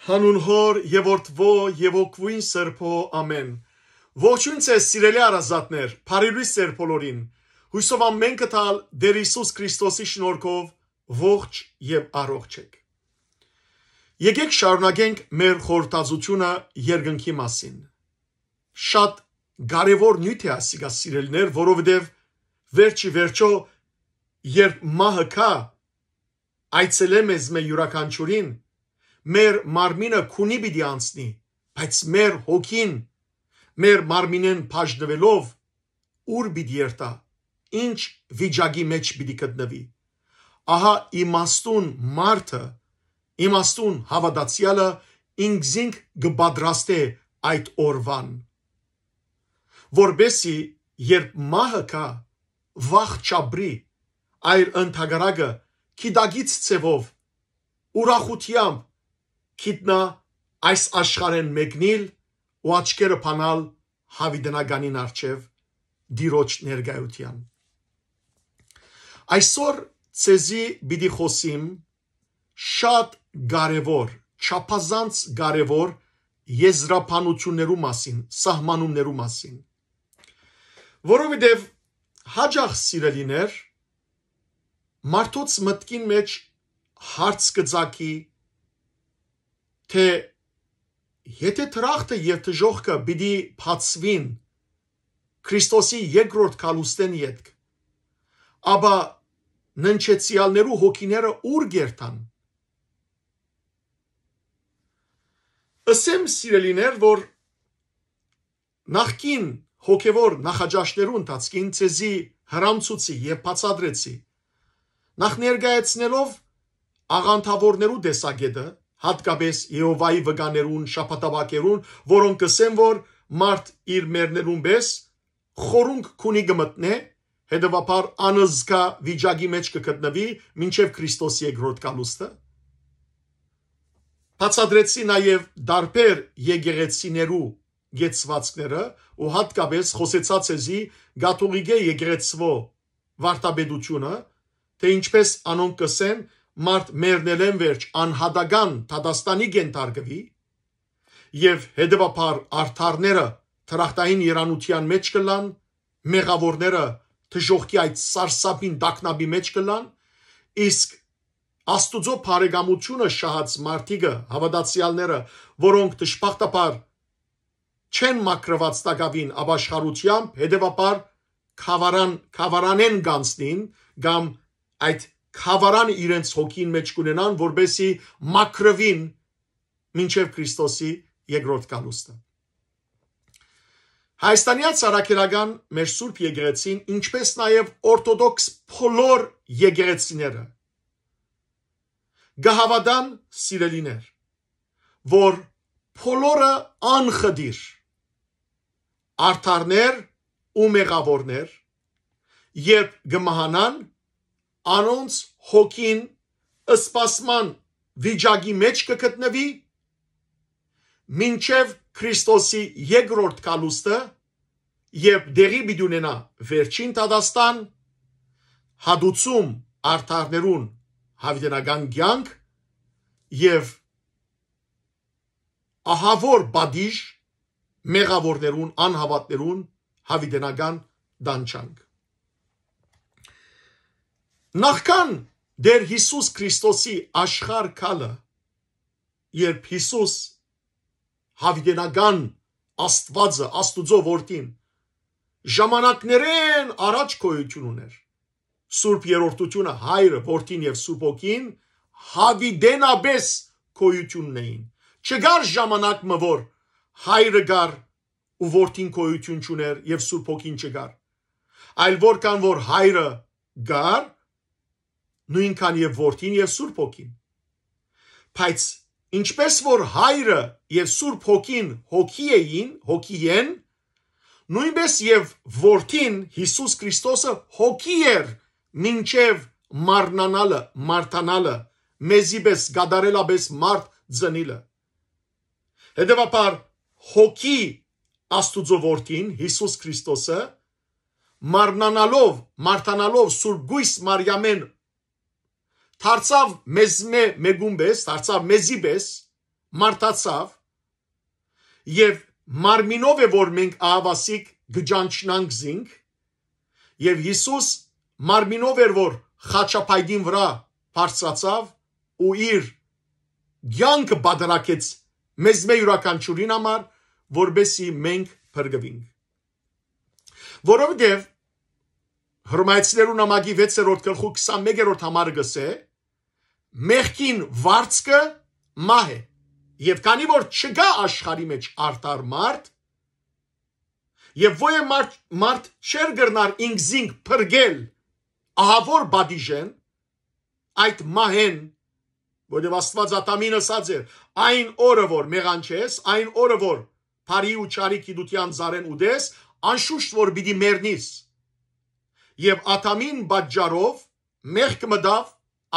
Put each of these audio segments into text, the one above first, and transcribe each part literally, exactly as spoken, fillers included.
Հանուն Հօր եւ Որդւոյ եւ Հոգւոյն Սրբոյ, ամէն։ Ողջույն ձեզ, սիրելի հարազատներ, բարի լոյս ձեր բոլորին։ Յուսով ամէն կտալ Տէր Յիսուս Քրիստոսի շնորհքով ողջ եւ առողջ եք։ Եկեք շարունակենք մեր խորհրդածությունը երկնքի մասին։ Շատ կարեւոր նիւթ է ասիկա, սիրելիներ, որովհետեւ վերջի վերջո, երբ մահը գայ, այցելէ մեզմէ յուրաքանչիւրին, մեր մարմինը քունի պիտի անցնի, բայց մեր հոգին, մեր մարմինէն բաժնուելով, ո՞ւր պիտի երթայ, ի՞նչ վիճակի մէջ պիտի գտնուի։ Ահա իմաստուն մարդը, իմաստուն հաւատացեալը ինքզինք կը պատրաստէ այդ օրուան, որպէսզի երբ մահը գայ, վախ չապրի, այլ ընդհակառակը գիտակից ձեւով, ուրախութեամբ գիտնայ այս աշխարհէն մեկնիլ ու աչքերը բանալ յաւիտենականին առջեւ, Տիրոջ ներկայութեան։ Այսօր ձեզի պիտի խօսիմ շատ կարեւոր, չափազանց կարեւոր եզրաբանութիւններու մասին, սահմանումներու մասին։ Որովհետեւ յաճախ, սիրելիներ, մարդոց մտքին մէջ հարց կը ծագի, թէ եթէ դրախտը եւ դժոխքը պիտի բացուին Քրիստոսի երկրորդ գալուստէն ետք, ապա ննջեցեալներու հոգիները ո՞ւր կ'երթան։ Ըսեմ, սիրելիներ, որ նախկին հոգեւոր նախաճաշներու ընթացքին ձեզի հրամցուցի եւ բացատրեցի, նախ ներկայացնելով աղանդաւորներու տեսակէտը, յատկապես Եհովայի վկաներուն, շաբաթապահներուն, որոնք կ'ըսեն, որ մարդ իր մեռնելուն պէս խորունկ քունի կը մտնէ, հետեւաբար անզգայ վիճակի մէջ կը գտնուի մինչեւ Քրիստոս երկրորդ գալուստը։ Բացատրեցի նաեւ տարբեր եկեղեցիներու կեցուածքները ու յատկապես խօսեցայ ձեզի կաթողիկէ եկեղեցւոյ վարդապետութիւնը, թէ ինչպէս անոնք կ'ըսեն, մարդ մեռնելէն վերջ անհատական դատաստանի կ'ենթարկուի, եւ հետեւաբար արդարները դրախտային երանութեան մէջ կ'ըլլան, մեղաւորները դժոխքի այդ սարսափին տագնապի մէջ կ'ըլլան, իսկ Աստուծոյ բարեկամութիւնը շահած մարդիկը, հաւատացեալները, որոնք դժբախտաբար չեն մաքրուած տակաւին ապաշխարութեամբ, հետեւաբար գաւառան-, գաւառանէն կ'անցնին կամ այդ գաւառանը իրենց հոգին մէջ կ'ունենան, որպէսզի մաքրուին մինչեւ Քրիստոսի երկրորդ գալուստը։ Հայաստանեան Սարակերական մեր Սուրբ Եկեղեցին, ինչպէս նաեւ օրթոդոքս բոլոր եկեղեցիները, կը հաւատան, սիրելիներ, որ բոլորը անխտիր արդարներ ու մեղաւորներ, երբ կը մահանան, անոնց հոգին սպասման վիճակի մէջ կը գտնուի, մինչեւ Քրիստոսի երկրորդ գալուստը, երբ տեղի պիտի ունենայ վերջին դատաստան, հատուցում արդարներուն յաւիտենական կեանք եւ ահաւոր պատիժ մեղաւորներուն, անհաւատներուն յաւիտենական տանջանք։ Նախքան Տէր Յիսուս Քրիստոսի աշխարհ գալը, երբ Յիսուս յաւիտենական Աստուածը, Աստուծոյ Որդին, ժամանակներէն առաջ գոյութիւն ունէր, Սուրբ Երրորդութիւնը, Հայրը, Որդին եւ Սուրբ Հոգին յաւիտենապէս գոյութիւն ունէին։ Չկար ժամանակ մը, որ Հայրը կար ու Որդին գոյութիւն չունէր եւ Սուրբ Հոգին չկար։ Այլ որքան որ Հայրը կար, նոյնքան եւ Որդին եւ Սուրբ Հոգին։ Բայց ինչպէս որ Հայրը եւ Սուրբ Հոգին հոգի էին, հոգի են, նոյնպէս եւ Որդին, Յիսուս Քրիստոսը, հոգի էր մինչեւ մարմնանալը, մարդանալը, մեզի պէս կատարելապէս մարդ ծնիլը։ Հետեւաբար, հոգի Աստուծոյ Որդին, Յիսուս Քրիստոսը, մարմնանալով, մարդանալով Սուրբ Կոյս Մարիամէն, դարձաւ մեզմէ մէկուն պէս, դարձաւ մեզի պէս, մարդացաւ եւ մարմինով է, որ մենք ահաւասիկ կը ճանչնանք զինք, եւ Յիսուս մարմինով էր, որ խաչապայտին վրայ բարձրացաւ ու իր կեանքը պատարագեց մեզմէ յուրաքանչիւրին համար, որպեսզի մենք փրկուինք։ Որովհետեւ Հռոմայեցիներու նամակի վեցերորդ գլխու քսանմեկերորդ համարը կ'ըսէ. «Մեղքին վարձքը մահ է, եւ քանի որ չկայ աշխարհի մէջ արդար մարդ, եւ ոեւէ մարդ, մարդ չէր կրնար ինքզինք փրկել ահաւոր պատիժէն, այդ մահէն, որովհետեւ Աստուած Ադամին ըսած էր. "Այն օրը որ մեղանչես, այն օրը որ բարի ու չարի գիտութեան ծառէն ուտես, անշուշտ որ պիտի մեռնիս"։ Եւ Ադամին պատճառով մեղք մտաւ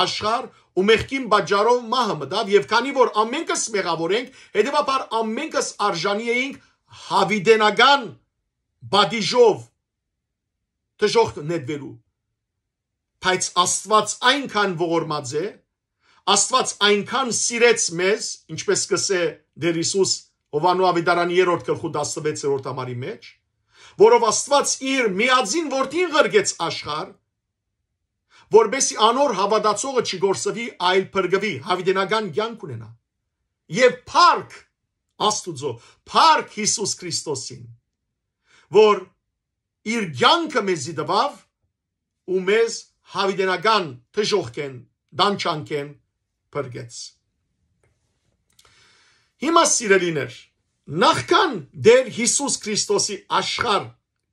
աշխարհ ու մեղքին պատճառով մահը մտաւ, եւ քանի որ ամենքս մեղաւոր ենք, հետեւաբար ամենքս արժանի էինք յաւիտենական պատիժով դժոխք նետուելու։ Բայց Աստուած այնքան ողորմած է, Աստուած այնքան սիրեց մեզ, ինչպես կ'ըսէ Տէր Յիսուս Յովհաննու աւետարանի երրորդ գլխու տասնվեցերորդ համարի մէջ, որով Աստուած իր միածին որդին ղրկեց աշխարհ, որպեսզի անոր հաւատացողը չկորսուի, այլ փրկուի, յաւիտենական կեանք ունենայ։ Եւ փառք Աստուծոյ, փառք Յիսուս Քրիստոսին, որ իր կեանքը մեզի տուաւ ու մեզ յաւիտենական դժոխքէն, տանջանքէն փրկեց։ Հիմա, սիրելիներ, նախքան Տէր Յիսուս Քրիստոսի աշխարհ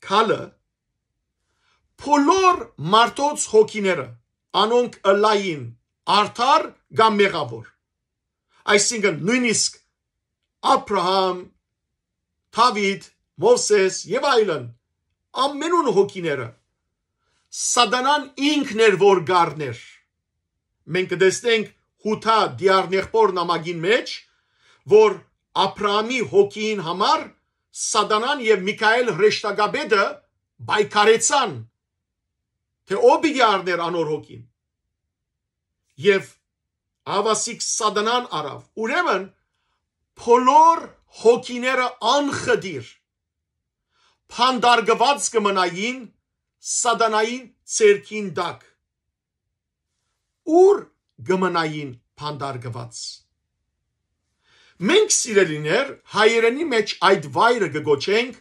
գալը, բոլոր մարդոց հոգիները, անոնք ըլլային արդար կամ մեղաւոր, այսինքն նոյնիսկ Աբրահամ, Դաւիթ, Մովսէս եւ այլն, ամենուն հոգիները Սատանան ինքն էր, որ կ'առնէր։ Մենք կը տեսնենք Յուդա Դիառնեղբոր նամակին մէջ, որ Աբրահամի հոգիին համար Սատանան եւ Միքայէլ հրեշտակապետը պայքարեցան, թէ ով պիտի առնէր անոր հոգին։ Եւ ահաւասիկ Սատանան առաւ։ Ուրեմն, բոլոր հոգիները անխտիր բանտարկուած կը մնային Սատանային ձեռքին տակ։ Ո՞ւր կը մնային բանտարկուած։ Մենք, սիրելիներ, հայերէնի մէջ այդ վայրը կը կոչենք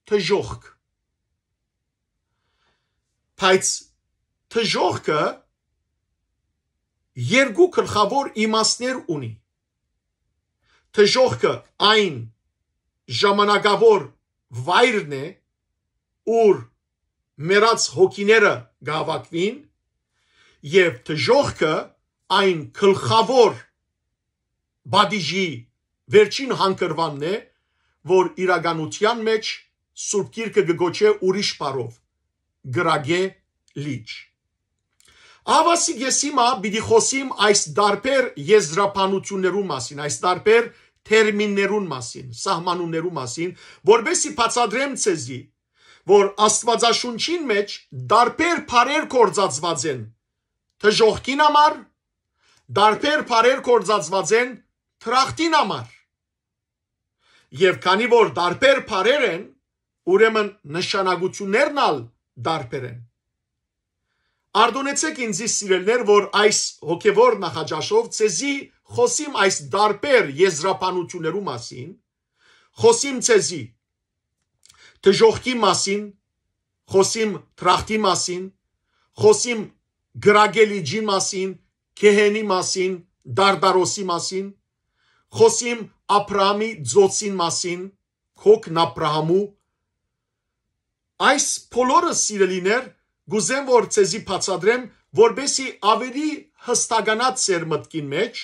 դժոխք։ Բայց դժոխքը երկու գլխաւոր իմաստներ ունի։ Դժոխքը այն ժամանակաւոր վայրն է, ուր մեռած հոգիները կհաւաքուին, եւ դժոխքը այն գլխաւոր պատիժի վերջին հանգրուանն է, որ իրականութեան մէջ Սուրբ Գիրքը կը կոչէ ուրիշ բառով՝ կրակէ լիճ։ Ահաւասիկ ես հիմա պիտի խօսիմ այս տարբեր եզրաբանութիւններուն մասին, այս տարբեր թերմիններուն մասին, սահմանումներուն մասին, որպեսզի բացատրեմ ձեզի, որ Աստուածաշունչին մէջ տարբեր բառեր գործածուած են դժոխքին համար, տարբեր բառեր գործածուած են դրախտին համար։ Եւ քանի որ տարբեր բառեր են, ուրեմն նշանակութիւններն ալ տարբեր են։ Արտոնեցէք ինձի, սիրելիներ, որ այս հոգեվոր նախաճաշով ձեզի խօսիմ այս տարբեր եզրաբանութիւններու մասին, խօսիմ ձեզի դժոխքի մասին, խօսիմ դրախտի մասին, խօսիմ կրակե լիճի մասին, գեհենի մասին, Տարտարոսի մասին, խօսիմ Աբրահամի ծոցին մասին, քոքն Աբրահամու։ Այս բոլորը, սիրելիներ, կուզեմ որ ձեզի բացատրեմ, որպեսզի ավելի յստականաց ձեր մտքին մէջ,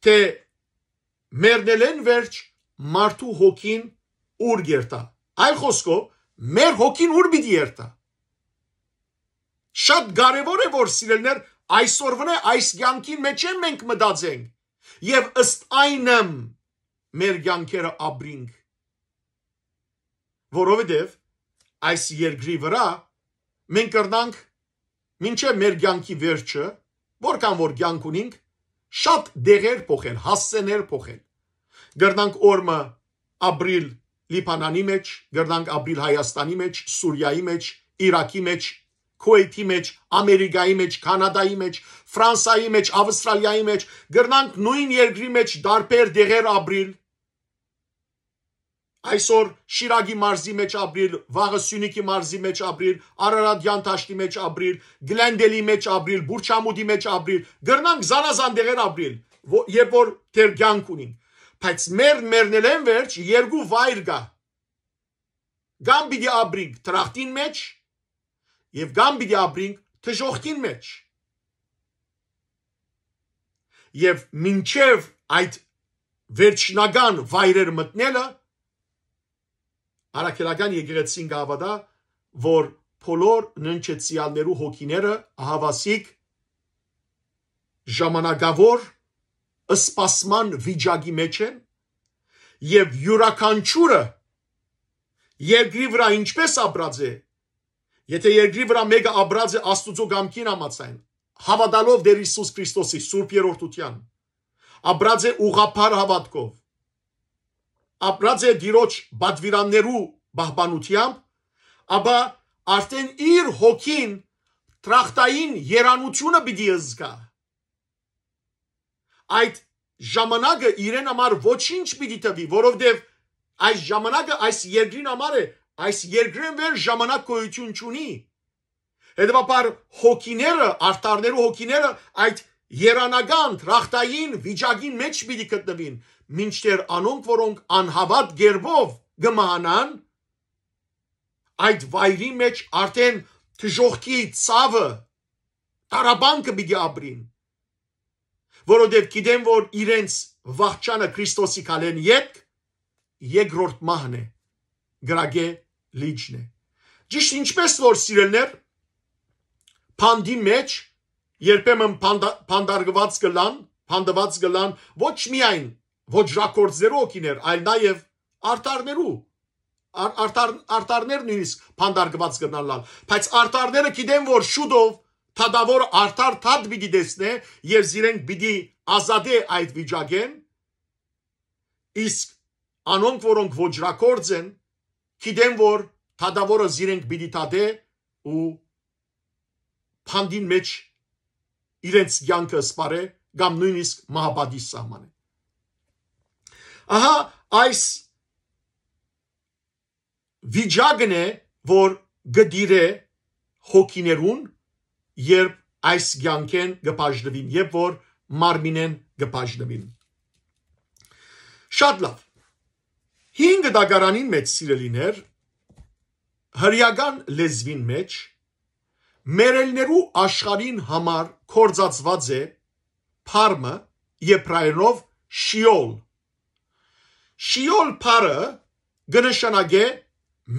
թէ մեռնելէն վերջ մարդու հոգին ո՞ւր կ'երթայ։ Այլ խօսքով, մեր հոգին ո՞ւր պիտի երթայ։ Շատ կարեւոր է, որ, սիրելիներ, այսօրվանէ այս կեանքին մէջ է մենք մտածենք եւ ըստ այնմ մեր կեանքերը ապրինք, որովհետեւ այս երկրի վրայ մենք կրնանք մինչեւ մեր կեանքի վերջը, որքան որ կեանք ունինք, շատ դեղեր փոխել, հասցեներ փոխել, կրնանք օր մը ապրիլ Լիբանանի մեջ, կրնանք ապրիլ Հայաստանի մեջ, Սուրիայի մեջ, Իրաքի մեջ, Քուէյթի մեջ, Ամերիկայի մեջ, Քանադայի մեջ, Ֆրանսայի մեջ, Ավստրալիայի մեջ, կրնանք նոյն երկրի մեջ տարբեր դեղեր ապրիլ։ Այսօր Շիրակի մարզի մեջ ապրիլ, վաղը Սիւնիքի մարզի մեջ ապրիլ, Արարատեան դաշտի մեջ ապրիլ, Գլենդէլի մեջ ապրիլ, Բուրչամուտի մեջ ապրիլ, կրնանք զանազան դեղեր ապրիլ, ո-, երբ որ դեռ կեանք ունինք, բայց մեր մեռնելէն վերջ երկու վայր կայ։ Կամ պիտի ապրինք դրախտին մեջ, եւ կամ պիտի ապրինք դժոխքին մեջ։ Եւ մինչեւ այդ վերջնական վայրեր մտնելը, առաքելական եկեղեցին կհաւատայ, որ բոլոր ննջեցեալներու հոգիները ահաւասիկ ժամանակաւոր սպասման վիճակի մեջ են, եւ իւրաքանչիւրը երկրի վրայ ինչպէս ապրած է, եթե երկրի վրայ մէկը ապրած է Աստուծոյ կամքին համաձայն, հաւատալով Տէր Յիսուս Քրիստոսի սուրբ երրորդութեան, ապրած է ուղղափառ հաւատքով, ապրած է Տիրոջ պատուիրաններու պահպանութեամբ, ապա արդեն իր հոգին դրախտային երանութիւնը պիտի զգայ։ Այդ ժամանակը իրեն համար ոչինչ պիտի թուի, որովհետեւ այս ժամանակը այս երկրին համար է, այս երկրէն վեր ժամանակ գոյութիւն չունի։ Հետեւաբար հոգիները, արդարներու հոգիները այդ երանական, դրախտային վիճակին մեջ պիտի գտնուին, մինչդեռ անոնք, որոնք անհաւատ կերպով կը մահանան, այդ վայրի մեջ արդեն դժոխքի ցաւը, տառապանքը պիտի ապրին, որովհետեւ գիտեն, որ իրենց վախճանը Քրիստոսի քալէն ետք երկրորդ մահն է, կրակէ լիճն է։ Ճիշդ ինչպէս որ, սիրելիներ, բանտի մեջ երբեմն բանտա-, բանտարկուած կ'ըլլան, բանտուած կ'ըլլան ոչ միայն ոճրագործներու հոգիներ, այլ նաեւ արդարներու, ար-, արդար-, արդարներ նոյնիսկ բանտարկուած կ'ըլլան, բայց արդարները գիտեն, որ շուտով դատաւորը արդար դատ պիտի տեսնէ եւ զիրենք պիտի ազատէ այդ վիճակէն, իսկ անոնք, որոնք ոճրագործ են, գիտեն, որ դատաւորը զիրենք պիտի դատէ ու բանտին մեջ իրենց կեանքը սպառէ կամ նոյնիսկ մահապատիժ սահմանէ։ Ահա այս վիճակն է, որ կը տիրէ հոգիներուն, երբ այս կեանքէն կը բաժնուին, երբ որ մարմինէն կը բաժնուին։ Շատ լաւ։ Հինգ դագարանին մեջ, սիրելիներ, հրեական լեզուին մեջ մեռելներու աշխարհին համար գործածուած է բառ մը, եբրայերով շիօլ։ Շիօլ բառը կը նշանակէ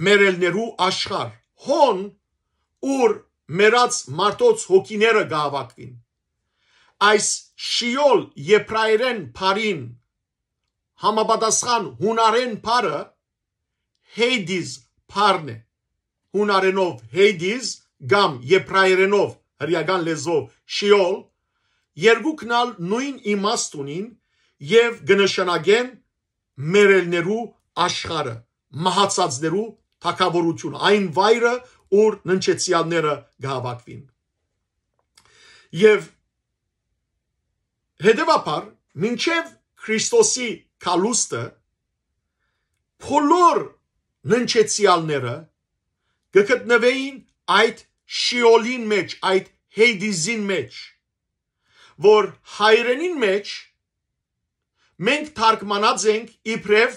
մեռելներու աշխարհ, հոն, ուր մեռած մարդոց հոգիները կը հաւաքուին։ Այս շիօլ եբրայերէն բառին համապատասխան յունարէն բառը Հեյդիզ բառն է, յունարէնով Հեյդիզ կամ եբրայերէնով, հրեական լեզուով շիօլ, երկուքն ալ նոյն իմաստ ունին եւ կը նշանակեն մեռելներու աշխարհը, մահացածներու թագաւորութիւնը, այն վայրը, ուր ննջեցեալները կը հաւաքուին։ Եւ հետեւաբար, մինչեւ Քրիստոսի գալուստը, բոլոր ննջեցեալները կը գտնուէին այդ շիօլին մեջ, այդ Հեյդիզին մեջ, որ հայերէնին մեջ մենք թարգմանած ենք իբրեւ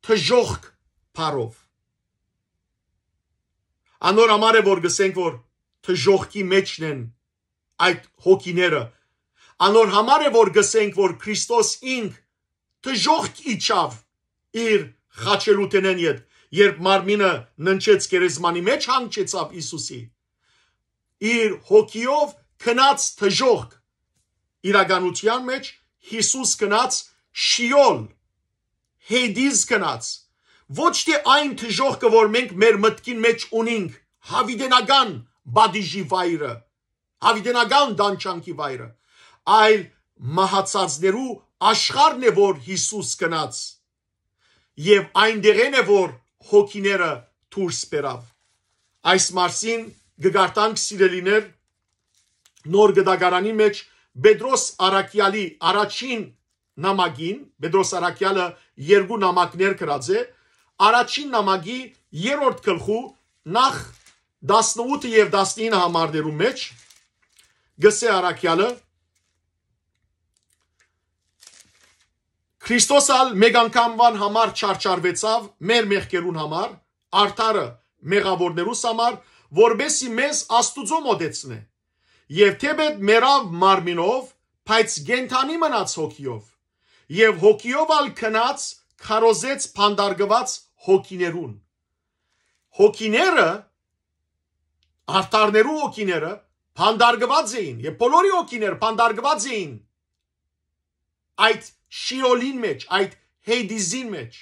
դժոխք բառով։ Անոր համար է, որ գսենք, որ դժոխքի մեջն են այդ հոգիները։ Անոր համար է, որ գսենք, որ Քրիստոս ինք դժոխք իջաւ իր խաչելութենեն յետ, երբ մարմինը ննջեց գերեզմանի մեջ, հանգչեցաւ Յիսուսի, իր հոգիով գնաց դժոխք։ Իրականության մեջ Յիսուս գնաց շիօլ, Հեյդիզ գնաց, ոչ թէ այն դժոխքը, որ մենք մեր մտքին մեջ ունինք, յաւիտենական պատիժի վայրը, յաւիտենական տանջանքի վայրը, այլ մահացածներու աշխարհն է որ Յիսուս գնաց, եւ այնտեղէն է որ հոգիները դուրս բերաւ։ Այս մասին կը կարդանք, սիրելիներ, Նոր Գտակարանի մէջ Պետրոս Առաքեալի առաջին նամակին, Պետրոս Առաքեալը երկու նամակներ գրած է, առաջին նամակի երրորդ գլխու նախ տասնութ եւ տասնինը համարներու մէջ գսե Առաքեալը. «Քրիստոս ալ մէկ անգամուան համար չարչարուեցաւ մեր մեղքերուն համար, արդարը մեղաւորներուս համար, որպեսզի մեզ Աստուծոյ մօտեցնէ։ Եւ թէպէտ մեռաւ մարմինով, բայց կենդանի մնաց հոգիով, եւ հոգիով ալ գնաց քարոզեց փանտարկուած հոգիներուն»։ Հոգիները, արդարներու հոգիները փանտարկուած էին, եւ բոլորի հոգիները փանտարկուած էին այդ Շիոլին մէջ, այդ Հեյդիզին մէջ,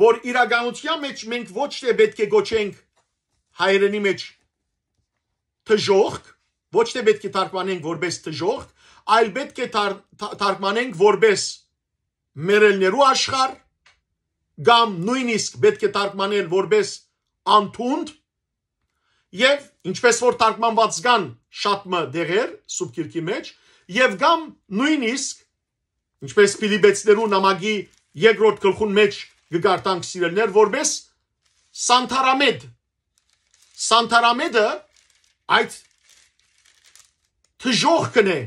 որ իրականության մէջ մենք ոչ թէ պէտք է կոչենք հայերէնի մէջ դժոխք, ոչ թէ պէտք է թարգմանենք որպես դժոխք, այլ պէտք է թար-, թա-, թարգմանենք որպես մեռելներու աշխարհ, կամ նոյնիսկ պէտք է թարգմանել որպես անթունդ, եւ ինչպես որ թարգմանուած կան շատ մը դեղեր Սուրբ Գիրքի մէջ, եւ կամ նոյնիսկ, ինչպես Փիլիպեցիներու նամակի երկրորդ գլխուն մէջ կը կարդանք, սիրելիներ, որպես սանթարամետ։ Սանթարամետը այդ դժոխքն է,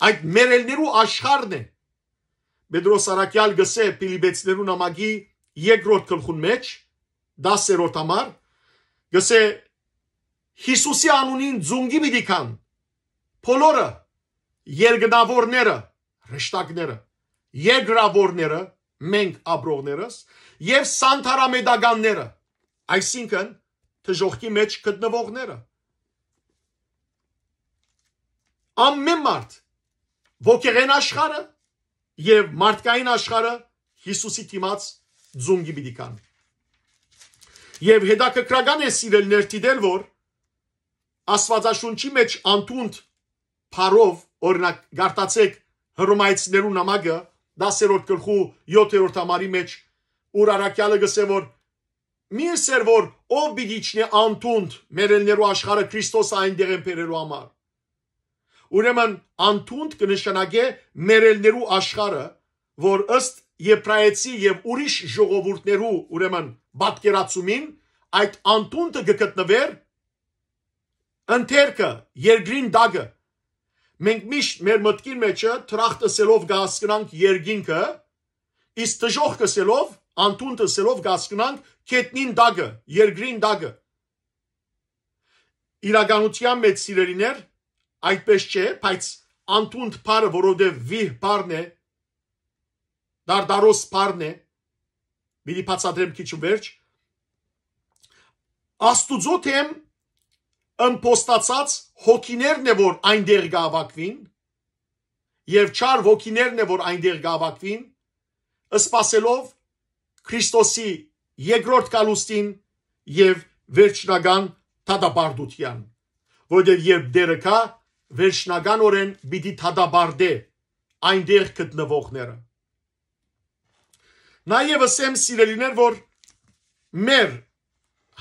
այդ մեռելներու աշխարհն է։ Պետրոս Առաքեալ գսե Փիլիպեցիներու նամակի երկրորդ գլխուն մէջ, տասերորդ համար, գսե. «Յիսուսի անունին ծունկի պիտի գան բոլորը, երկնաւորները, հրեշտակները, երկրաւորները, մենք ապրողներս, եւ սանթարամետականները», այսինքն՝ դժոխքի մէջ գտնուողները։ Ամէն մարդ, ոգեղէն աշխարհը եւ մարդկային աշխարհը Յիսուսի դիմաց ծունկի պիտի գան։ Եւ հետաքրքրական է, սիրելիներ, դիտել, որ Աստուածաշունչի մէջ անթունդ բառով, օրինակ, կարդացէք Հռոմայեցիներու նամակը, տասերորդ գլխու յոթերորդ համարի մէջ, ուր առաքեալը գսէ, որ մի ըսեր, որ ով պիտի իջնէ անթունդ մեռելներու աշխարհը Քրիստոսը այնտեղէն բերելու համար։ Ուրեմն անթունդ կը նշանակէ մեռելներու աշխարհը, որ ըստ եբրայեցի եւ ուրիշ ժողովուրդներու, ուրեմն, պատկերացումին, այդ անթունդը կը գտնուէր ընթերքը, երկրին տակը։ Մենք միշտ մեր մտքին մէջը դրախտ ըսելով կը հասկնանք երկինքը, իսկ դժոխք ըսելով, անթունդ ըսելով կը հասկնանք գետնին տակը, երկրին տակը։ Իրականության մէջ, սիրելիներ, այդպես չէ, բայց անթունդ բառը, որովհետեւ վիհ բառն է, դարդարոս բառն է, պիտի բացատրեմ քիչ ու վերջ, Աստուծոյ դէմ ըմբոստացած հոգիներն է, որ այնտեղ կ'հաւաքուին, եւ չար հոգիներն է, որ այնտեղ կ'հաւաքուին, սպասելով Քրիստոսի երկրորդ գալուստին եւ վերջնական դատապարտութեան, որովհետեւ երբ Տէրը գայ, վերջնականօրէն պիտի դատապարտէ այնտեղ գտնուողները։ Նաեւ ըսեմ, սիրելիներ, որ մեր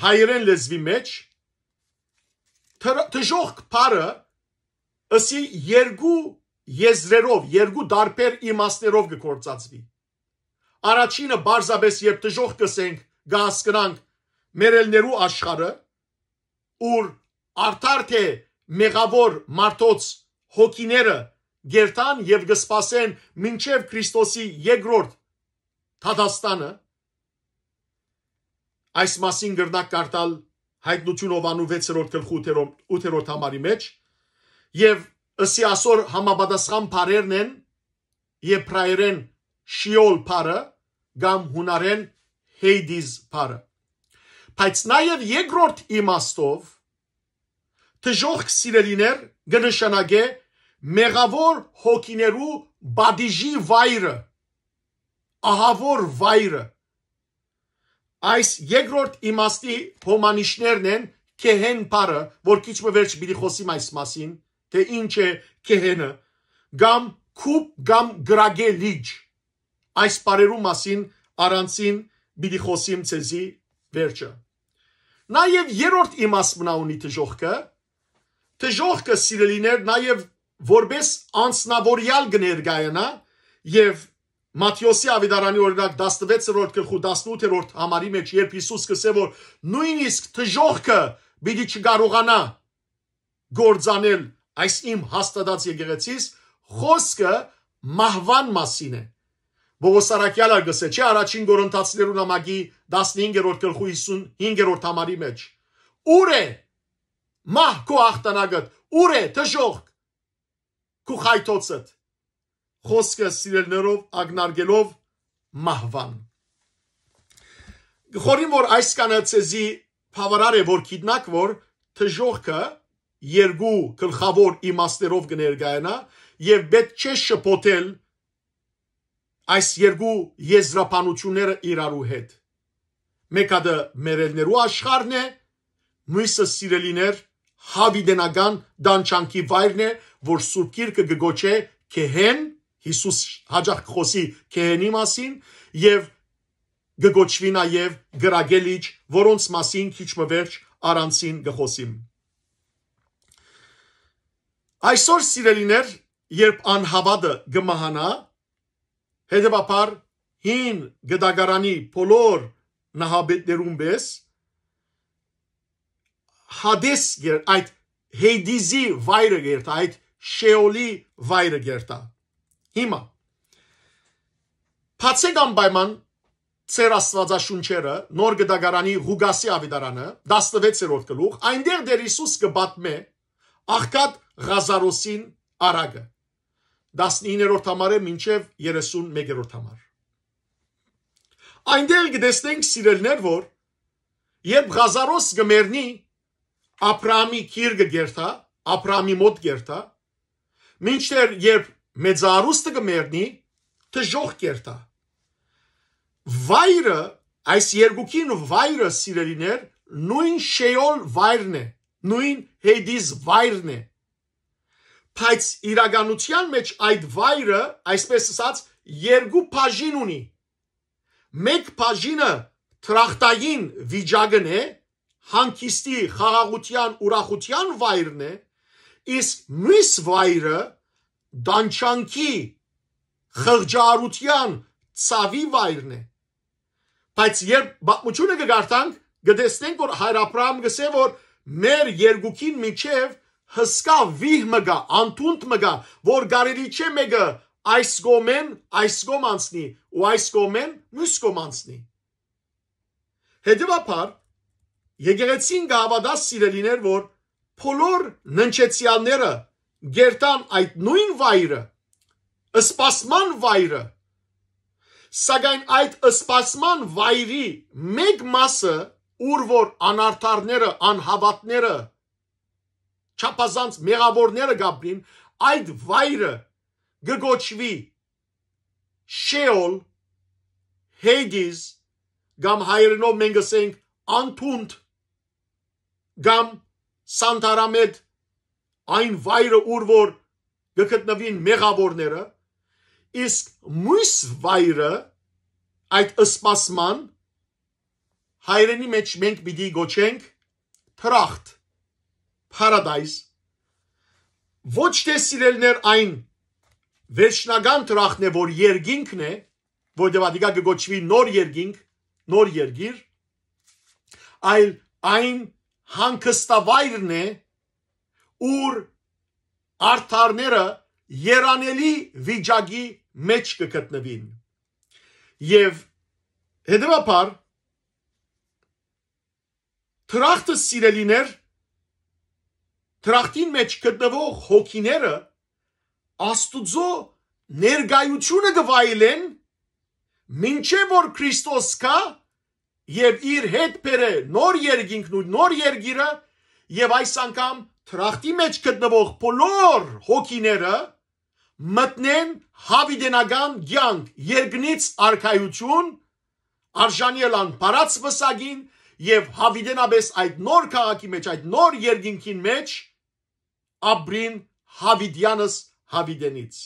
հայերէն լեզուի մէջ դժ-, դժոխք բառը ըսի երկու եզրերով, երկու տարբեր իմաստներով կը գործածուի։ Առաջինը պարզապէս, երբ դժոխք կ'ըսենք, կը հասկնանք մեռելներու աշխարհը, ուր արդար թէ մեղաւոր մարդոց հոգիները կ'երթան եւ կը սպասեն մինչեւ Քրիստոսի երկրորդ դատաստանը։ Այս մասին կրնաք կարդալ Հայտնություն Յովհաննու վեցերորդ գլխու ութերորդ, ութերորդ համարի մէջ, եւ ըսի ասոր համապատասխան բառերն են եբրայերէն Շիօլ բառը կամ յունարէն Հեյդիզ բառը։ Բայց նաեւ երկրորդ իմաստով դժոխք, սիրելիներ, կը նշանակէ մեղաւոր հոգիներու պատիժի վայրը, ահաւոր վայրը։ Այս երկրորդ իմաստի հոմանիշներն են Քեհեն բառը, որ քիչ մը վերջ պիտի խօսիմ այս մասին, թէ ինչ է Քեհենը, կամ քուպ կամ կրակե լիճ։ Այս բառերու մասին առանձին պիտի խօսիմ ձեզի վերջը։ Նաեւ երրորդ իմաստ մնա ունի դժոխքը։ Դժոխքը, սիրելիներ, նաեւ որպէս անձնաւորեալ կը ներկայանայ, եւ Մատթէոսի աւետարանի, օրինակ, տասնվեցերորդ գլխու տասնութերորդ համարի մէջ, երբ Յիսուս կ'ըսէ, որ նոյնիսկ դժոխքը պիտի չկարողանայ գործանել այս իմ հաստատած եկեղեցիս, խօսքը մահուան մասին է։ Պողոս առաքեալ ալ կ'ըսէ, չէ՞, առաջին Կորինթացիներու նամակի տասնհինգերորդ գլխու հիսունհինգերորդ համարի մէջ. «Ո՞ւր է, մահ, քու ախտանակդ, ո՞ւր է, դժոխք, քու խայթոցդ»։ Խօսքը սիրելիներով ակնարկելով մահուան։ Կը խորհիմ, որ այսքանը ձեզի բաւարար է, որ գիտնաք, որ դժոխքը երկու գլխաւոր իմաստներով կը ներկայանայ եւ պէտք չէ շփոթել այս երկու եզրաբանութիւնները իրարու հետ։ Մէկ հատը մեռելներու աշխարհն է, մոյսը, սիրելիներ, յաւիտենական տանջանքի վայրն է, որ Սուրբ Գիրքը կը կոչէ գեհեն, Յիսուս յաճախ կը խօսի գեհենի մասին, եւ կը կոչուի նաեւ կրակե լիճ, որոնց մասին քիչ մը վերջ առանձին կը խօսիմ։ Այսօր, սիրելիներ, երբ անհաւատը կը մահանայ, հետեւաբար հին գտակարանի բոլոր նահապետներուն պէս Հադես կեր-, այդ Հեյդիզի վայրը կերտայ, այդ Շեոլի վայրը կերտայ։ Հիմա, բացեք անպայման ձեր Աստուածաշունչերը, Նոր Գտակարանի Ղուկասի աւետարանը, տասնվեցերորդ գլուխ, այնտեղ Տէր Յիսուս կը պատմէ աղքատ Ղազարոսին առակը, տասնիններորդ համարէ մինչեւ երեսուն մեկերորդ համար։ Այնտեղ կը տեսնենք, սիրելիներ, որ երբ Ղազարոս կը մեռնի, Աբրահամի գիրկը կերտայ, Աբրահամի մօտ կերտայ, մինչդեռ երբ մեծարուստը կը մեռնի, դժոխք կերտայ։ Վայրը, այս երկուքին վայրը, սիրելիներ, նոյն Շեոլ վայրն է, նոյն Հեյդիզ վայրն է։ Բայց իրականութեան մէջ այդ վայրը, այսպես ըսած, երկու բաժին ունի։ Մէկ բաժինը դրախտային վիճակն է, հանգիստի, խաղաղութեան, ուրախութեան վայրն է, իսկ միւս վայրը տանջանքի, խղճարութեան, ցաւի վայրն է։ Բայց երբ պատմութիւնը կը կարդանք, կը տեսնենք, որ Հայր Աբրահամ կ'ըսէ, որ մեր երկուքին միջեւ հսկայ վիհ մը կայ, անթունդ մը կայ, որ կարելի չէ մէկը այս կողմէն, այս կողմ անցնի ու այս կողմէն, միւս կողմ անցնի։ Հետեւաբար, եկեղեցին կը հաւատայ, սիրելիներ, որ բոլոր ննջեցեալները կերտան այդ նոյն վայրը, սպասման վայրը, սակայն այդ սպասման վայրի մէկ մասը, ուր որ անարդարները, անհաւատները, չափազանց մեղաւորները կ'ապրին, այդ վայրը կը կոչուի Շեոլ, Հեյդիզ, կամ հայերէնով մենք ըսենք անթունդ, կամ սանտարամետ, այն վայրը, ուր որ կը գտնուին մեղաւորները, իսկ մյուս վայրը, այդ սպասման, հայերէնի մէջ մենք պիտի կոչենք դրախտ, paradise, ոչ թէ, սիրելիներ, այն վերջնական դրախտն է, որ երկինքն է, որտեղ ատիկա կը կոչուի նոր երկինք, նոր երկիր, այլ այն հանգստավայրն է, ուր արդարները երանելի վիճակի մէջ կը գտնուին։ Եւ հետեւաբար, դրախտը, սիրելիներ, դրախտին մէջ գտնվող հոգիները Աստուծոյ ներկայութիւնը կը վայելեն, մինչեւ որ Քրիստոս գայ եւ իր հետ բերէ նոր երկինքն ու նոր երկիրը, եւ այս անգամ դրախտի մէջ գտնվող բոլոր հոգիները մտնեն յաւիտենական կեանք, երկնից արքայութիւն, արժանի ըլլան փառաց պսակին, եւ յաւիտենապէս այդ նոր քաղաքի մէջ, այդ նոր երկինքին մէջ ապրին յաւիտեանս յաւիտենից։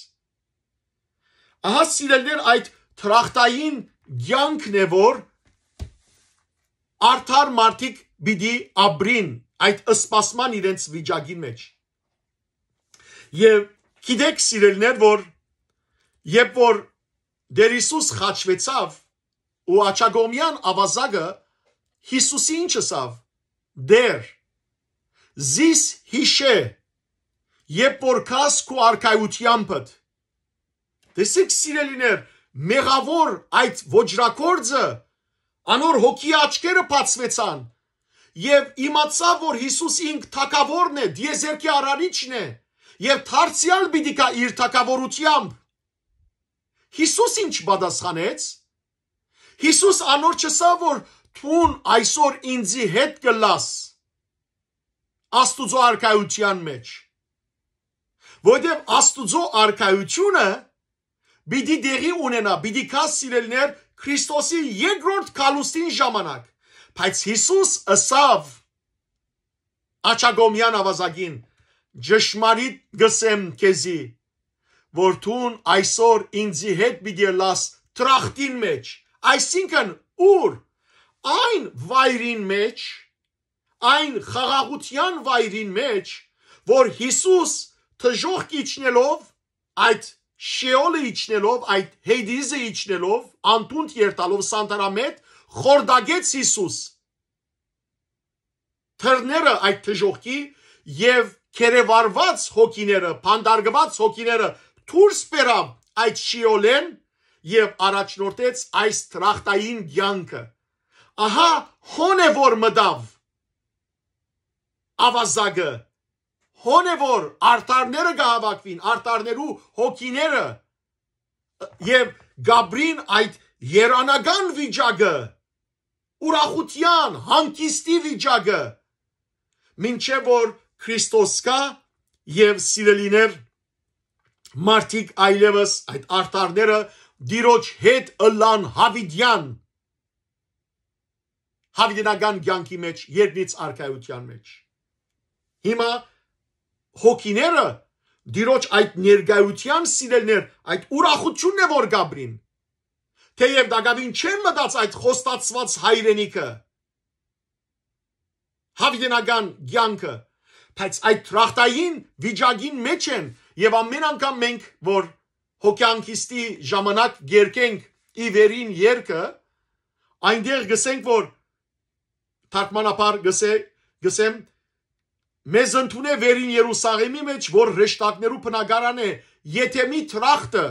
Ահա, սիրելիներ, այդ դրախտային կեանքն է, որ արդար մարդիկ պիտի ապրին այդ սպասման իրենց վիճակին մեջ։ Եւ գիտեք, սիրելիներ, որ երբ որ Տեր Յիսուս խաչուեցաւ ու աջակողմեան աւազակը Յիսուսի ինչ ըսաւ. «Տեր, զիս յիշէ, երբ որ գաս քու արքայութեամբդ»։ Տեսեք, սիրելիներ, մեղաւոր այդ ոճրագործը, անոր հոգի աչքերը բացուեցան, եւ իմացաւ, որ Յիսուս ինք թագաւորն է, դիեզերքի արարիչն է, եւ դարձեալ պիտի գայ իր թագաւորութեամբ։ Յիսուս ինչ պատասխանեց։ Յիսուս անոր չըսաւ, որ դուն այսօր ինծի հետ կ'ըլլաս Աստուծոյ արքայութեան մեջ, որովհետեւ Աստուծոյ արքայութիւնը պիտի տեղի ունենայ, պիտի գայ, սիրելիներ, Քրիստոսի երկրորդ գալուստին ժամանակ։ Բայց Յիսուս ըսաւ աջակողմեան աւազակին. «Ճշմարիտ կ'ըսեմ քեզի, որ դուն այսօր ինծի հետ պիտի ըլլաս դրախտին մեջ»։ Այսինքն, ո՞ւր։ Այն վայրին մեջ, այն խաղաղութեան վայրին մեջ, որ Յիսուս դժոխք իջնելով, այդ Շեոլը իջնելով, այդ Հեյդիզը իջնելով, անդունդ երթալով, սանտարամետ, խորտակեց Յիսուս թռները այդ դժոխքի, եւ գերեվարուած հոգիները, փանդարգուած հոգիները դուրս բերաւ այդ Շիօլէն եւ առաջնորդեց այս դրախտային կեանքը։ Ահա, հոն է որ մտաւ աւազակը, հոն է որ արդարները կհաւաքուին, արդարներու հոգիները, եւ կ'ապրին այդ երանական վիճակը, ուրախութեան, հանգիստի վիճակը, մինչեւ որ Քրիստոս գայ, եւ, սիրելիներ, մարդիկ այլեւս, այդ արդարները, Տիրոջ հետ ըլլան յաւիտեան, յաւիտենական կեանքի մեջ, երկնից արքայութեան մեջ։ Հիմա հոգիները Տիրոջ այդ ներկայութեան, սիրելիներ, այդ ուրախութիւնն է որ կ'ապրին, թէեւ տակաւին չեն մտած այդ խոստացուած հայրենիքը, յաւիտենական կեանքը, բայց այդ դրախտային վիճակին մեջ են, եւ ամէն անգամ մենք որ հոգեանքիստի ժամանակ կերկենք ի վերին երկը, այնտեղ գսենք որ թարգմանաբար գսե, գսեմ, մեզ ընդունէ վերին Երուսաղէմի մեջ, որ հրեշտակներու բնակարան է, եթեմի դրախտը,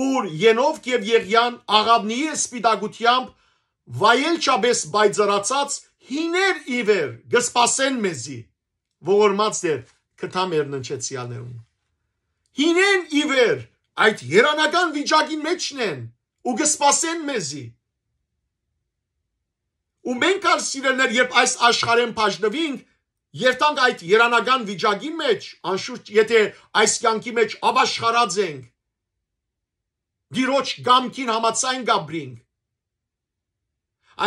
ուր Ենովք եւ Եղիան աղաւնիի սպիտակութեամբ վայելչապէս պայծառացած հիներ ի վեր կը սպասեն մեզի, ողորմած Տեր, կտա մեր ննջեցեալներուն։ Հինեն ի վեր այդ երանական վիճակին մեջն են ու կը սպասեն մեզի։ Ու մենք ալ, սիրելիներ, երբ այս աշխարհէն բաժնուինք, երթանք այդ երանական վիճակին մեջ, անշուշտ, եթէ այս կեանքի մեջ ապաշխարած ենք, Տիրոջ կամքին համաձայն կ'ապրինք,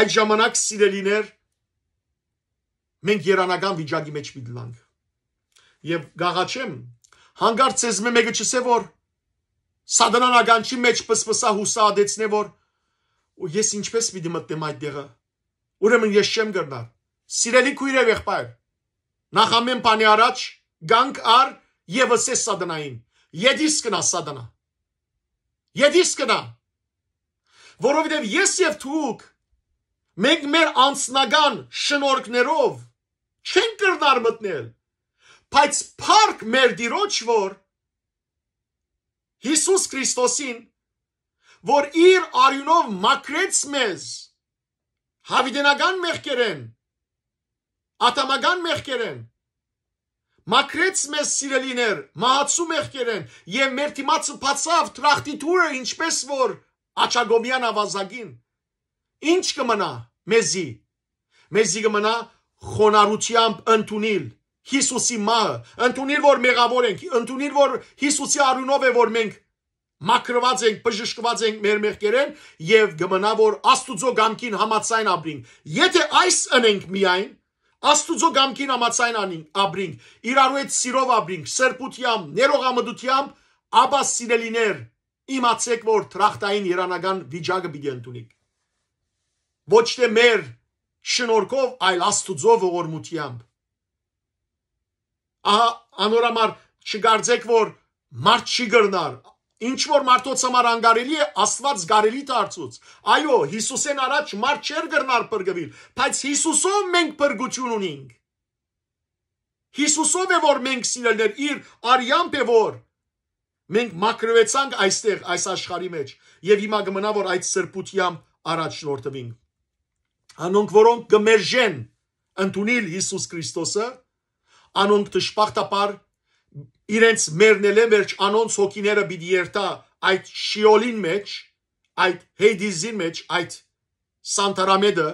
այդ ժամանակ, սիրելիներ, մենք երանական վիճակի մեջ պիտի լանք։ Եւ կ'աղաչեմ, հանկարծ ձեզմէ մէկը չ'ըսէ որ Սատանան ականջի մեջ պսպսայ, յուսա ատեցնէ որ «Ու ես ինչպես պիտի մտնեմ այդ տեղը, ուրեմն ես չեմ կրնար»։ Սիրելի քոյր եւ եղբայր, նախ ամէն բանի առաջ կանգ առ եւ ըսէ Սատանային. «Ետիս կնա, Սատանա, ետիս կնա»։ Որովհետեւ ես եւ դուք, մենք մեր անձնական շնորհքներով չենք կրնար մտնել, բայց փառք մեր Տիրոջ որ Յիսուս Քրիստոսին, որ իր արիւնով մաքրեց մեզ յաւիտենական մեղքերէն, ատամական մեղքերէն, մաքրեց մեզ, սիրելիներ, մահացու մեղքերէն, եւ մեր դիմացը բացաւ դրախտի դուռը, ինչպես որ աջակողմեան աւազակին։ Ինչ կը մնայ մեզի։ Մեզի կը մնայ խոնարհութեամբ ընդունիլ Յիսուսի մահը, ընդունիլ որ մեղաւոր ենք, ընդունիլ որ Յիսուսի արիւնով է որ մենք մաքրուած ենք, բժշկուած ենք մեր մեղքերէն, եւ կը մնայ որ Աստուծոյ կամքին համաձայն ապրինք։ Եթէ այս ընենք միայն, Աստուծոյ կամքին համաձայն անինք, ապրինք, իրարու հետ սիրով ապրինք, սրբութեամբ, ներողամտութեամբ, ապա, սիրելիներ, իմացէք, որ դրախտային երանական վիճակը պիտի ընդունիք։ Ոչ թէ մեր շնորհքով, այլ Աստուծոյ ողորմութեամբ։ Ահա, անոր համար չկարծէք, որ մարդ չի կրնար։ Ինչ որ մարդոց համար անկարելի է, Աստուած կարելի դարձուց։ Այո, Յիսուսէն առաջ մարդ չէր կրնար փրկուիլ, բայց Յիսուսով մենք փրկութիւն ունինք։ Յիսուսով է, որ մենք, սիրելիներ, իր արեամբ է, որ մենք մաքրուեցանք այստեղ, այս աշխարհի մեջ, եւ հիմա կը մնայ, որ այդ սրբութեամբ առաջնորդուինք։ Անոնք, որոնք կը մերժեն ընդունիլ Յիսուս Քրիստոսը, անոնք, դժբախտաբար, իրենց մեռնելէն վերջ անոնց հոգիները պիտի երթայ այդ շիոլին մեջ, այդ Հեյդիզին մեջ, այդ սանտարամետը,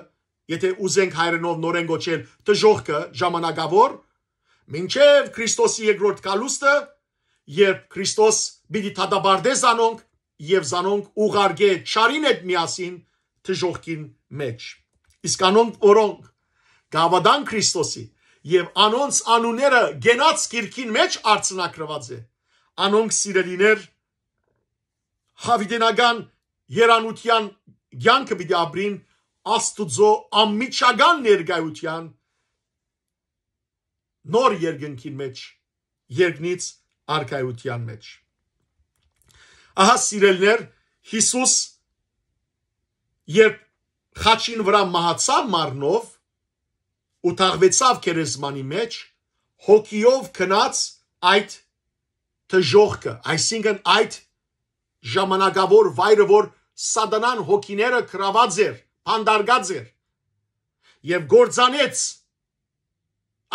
եթե ուզենք հայերէնով նորէն կոչել, դժոխքը ժամանակաւոր, մինչեւ Քրիստոսի երկրորդ գալուստը, երբ Քրիստոս պիտի դատապարտէ զանոնք եւ զանոնք ուղարկէ չարին հետ միասին դժոխքին մեջ։ Իսկ անոնք, որոնք կհաւատան Քրիստոսի, եւ անոնց անունները կենաց գիրքին մեջ արձանագրուած է, անոնք, սիրելիներ, յաւիտենական երանութեան կեանքը պիտի ապրին Աստուծոյ անմիջական ներկայութեան նոր երկնքին մեջ, երկնից արքայութեան մեջ։ Ահա, սիրելիներ, Յիսուս, երբ խաչին վրայ մահացաւ մարմնով ու թաղուեցաւ գերեզմանի մեջ, հոգիով գնաց այդ դժոխքը, այսինքն՝ այդ ժամանակաւոր վայրը, որ սատանան հոգիները գրաւած էր, փանտարկած էր, եւ կործանեց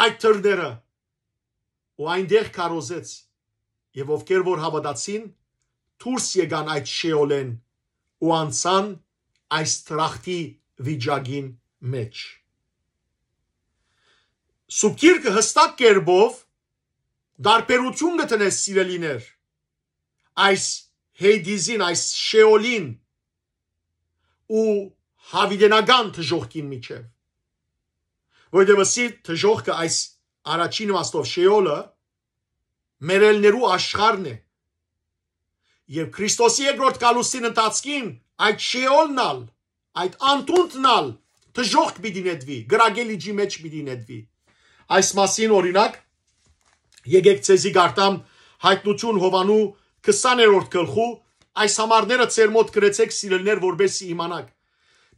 այդ դռները ու այնտեղ քարոզեց, եւ ովքեր որ հաւատացին, դուրս եկան այդ շեոլէն ու անցան այս դրախտի վիճակին մեջ։ Սուրբ Գիրքը յստակ կերպով տարբերութիւն կը դնէ, սիրելիներ, այս Հեյդիզին, այս շեոլին ու յաւիտենական դժոխքին միջեւ։ Որովհետեւ ըսի դժոխքը, այս առաջին իմաստով շեոլը, մեռելներու աշխարհն է։ Եւ Քրիստոսի երկրորդ գալուստին ընթացքին այդ շեոլն ալ, այդ անտունտն ալ դժոխք պիտի նետուի, կրակե լիճի մեջ պիտի նետուի։ Այս մասին, օրինակ, եկեք ձեզի կարդամ Հայտնություն Յովհաննու քսաներորդ գլխու, այս համարները ձեր մօտ գրեցէք, սիրելիներ, որպեսզի իմանաք։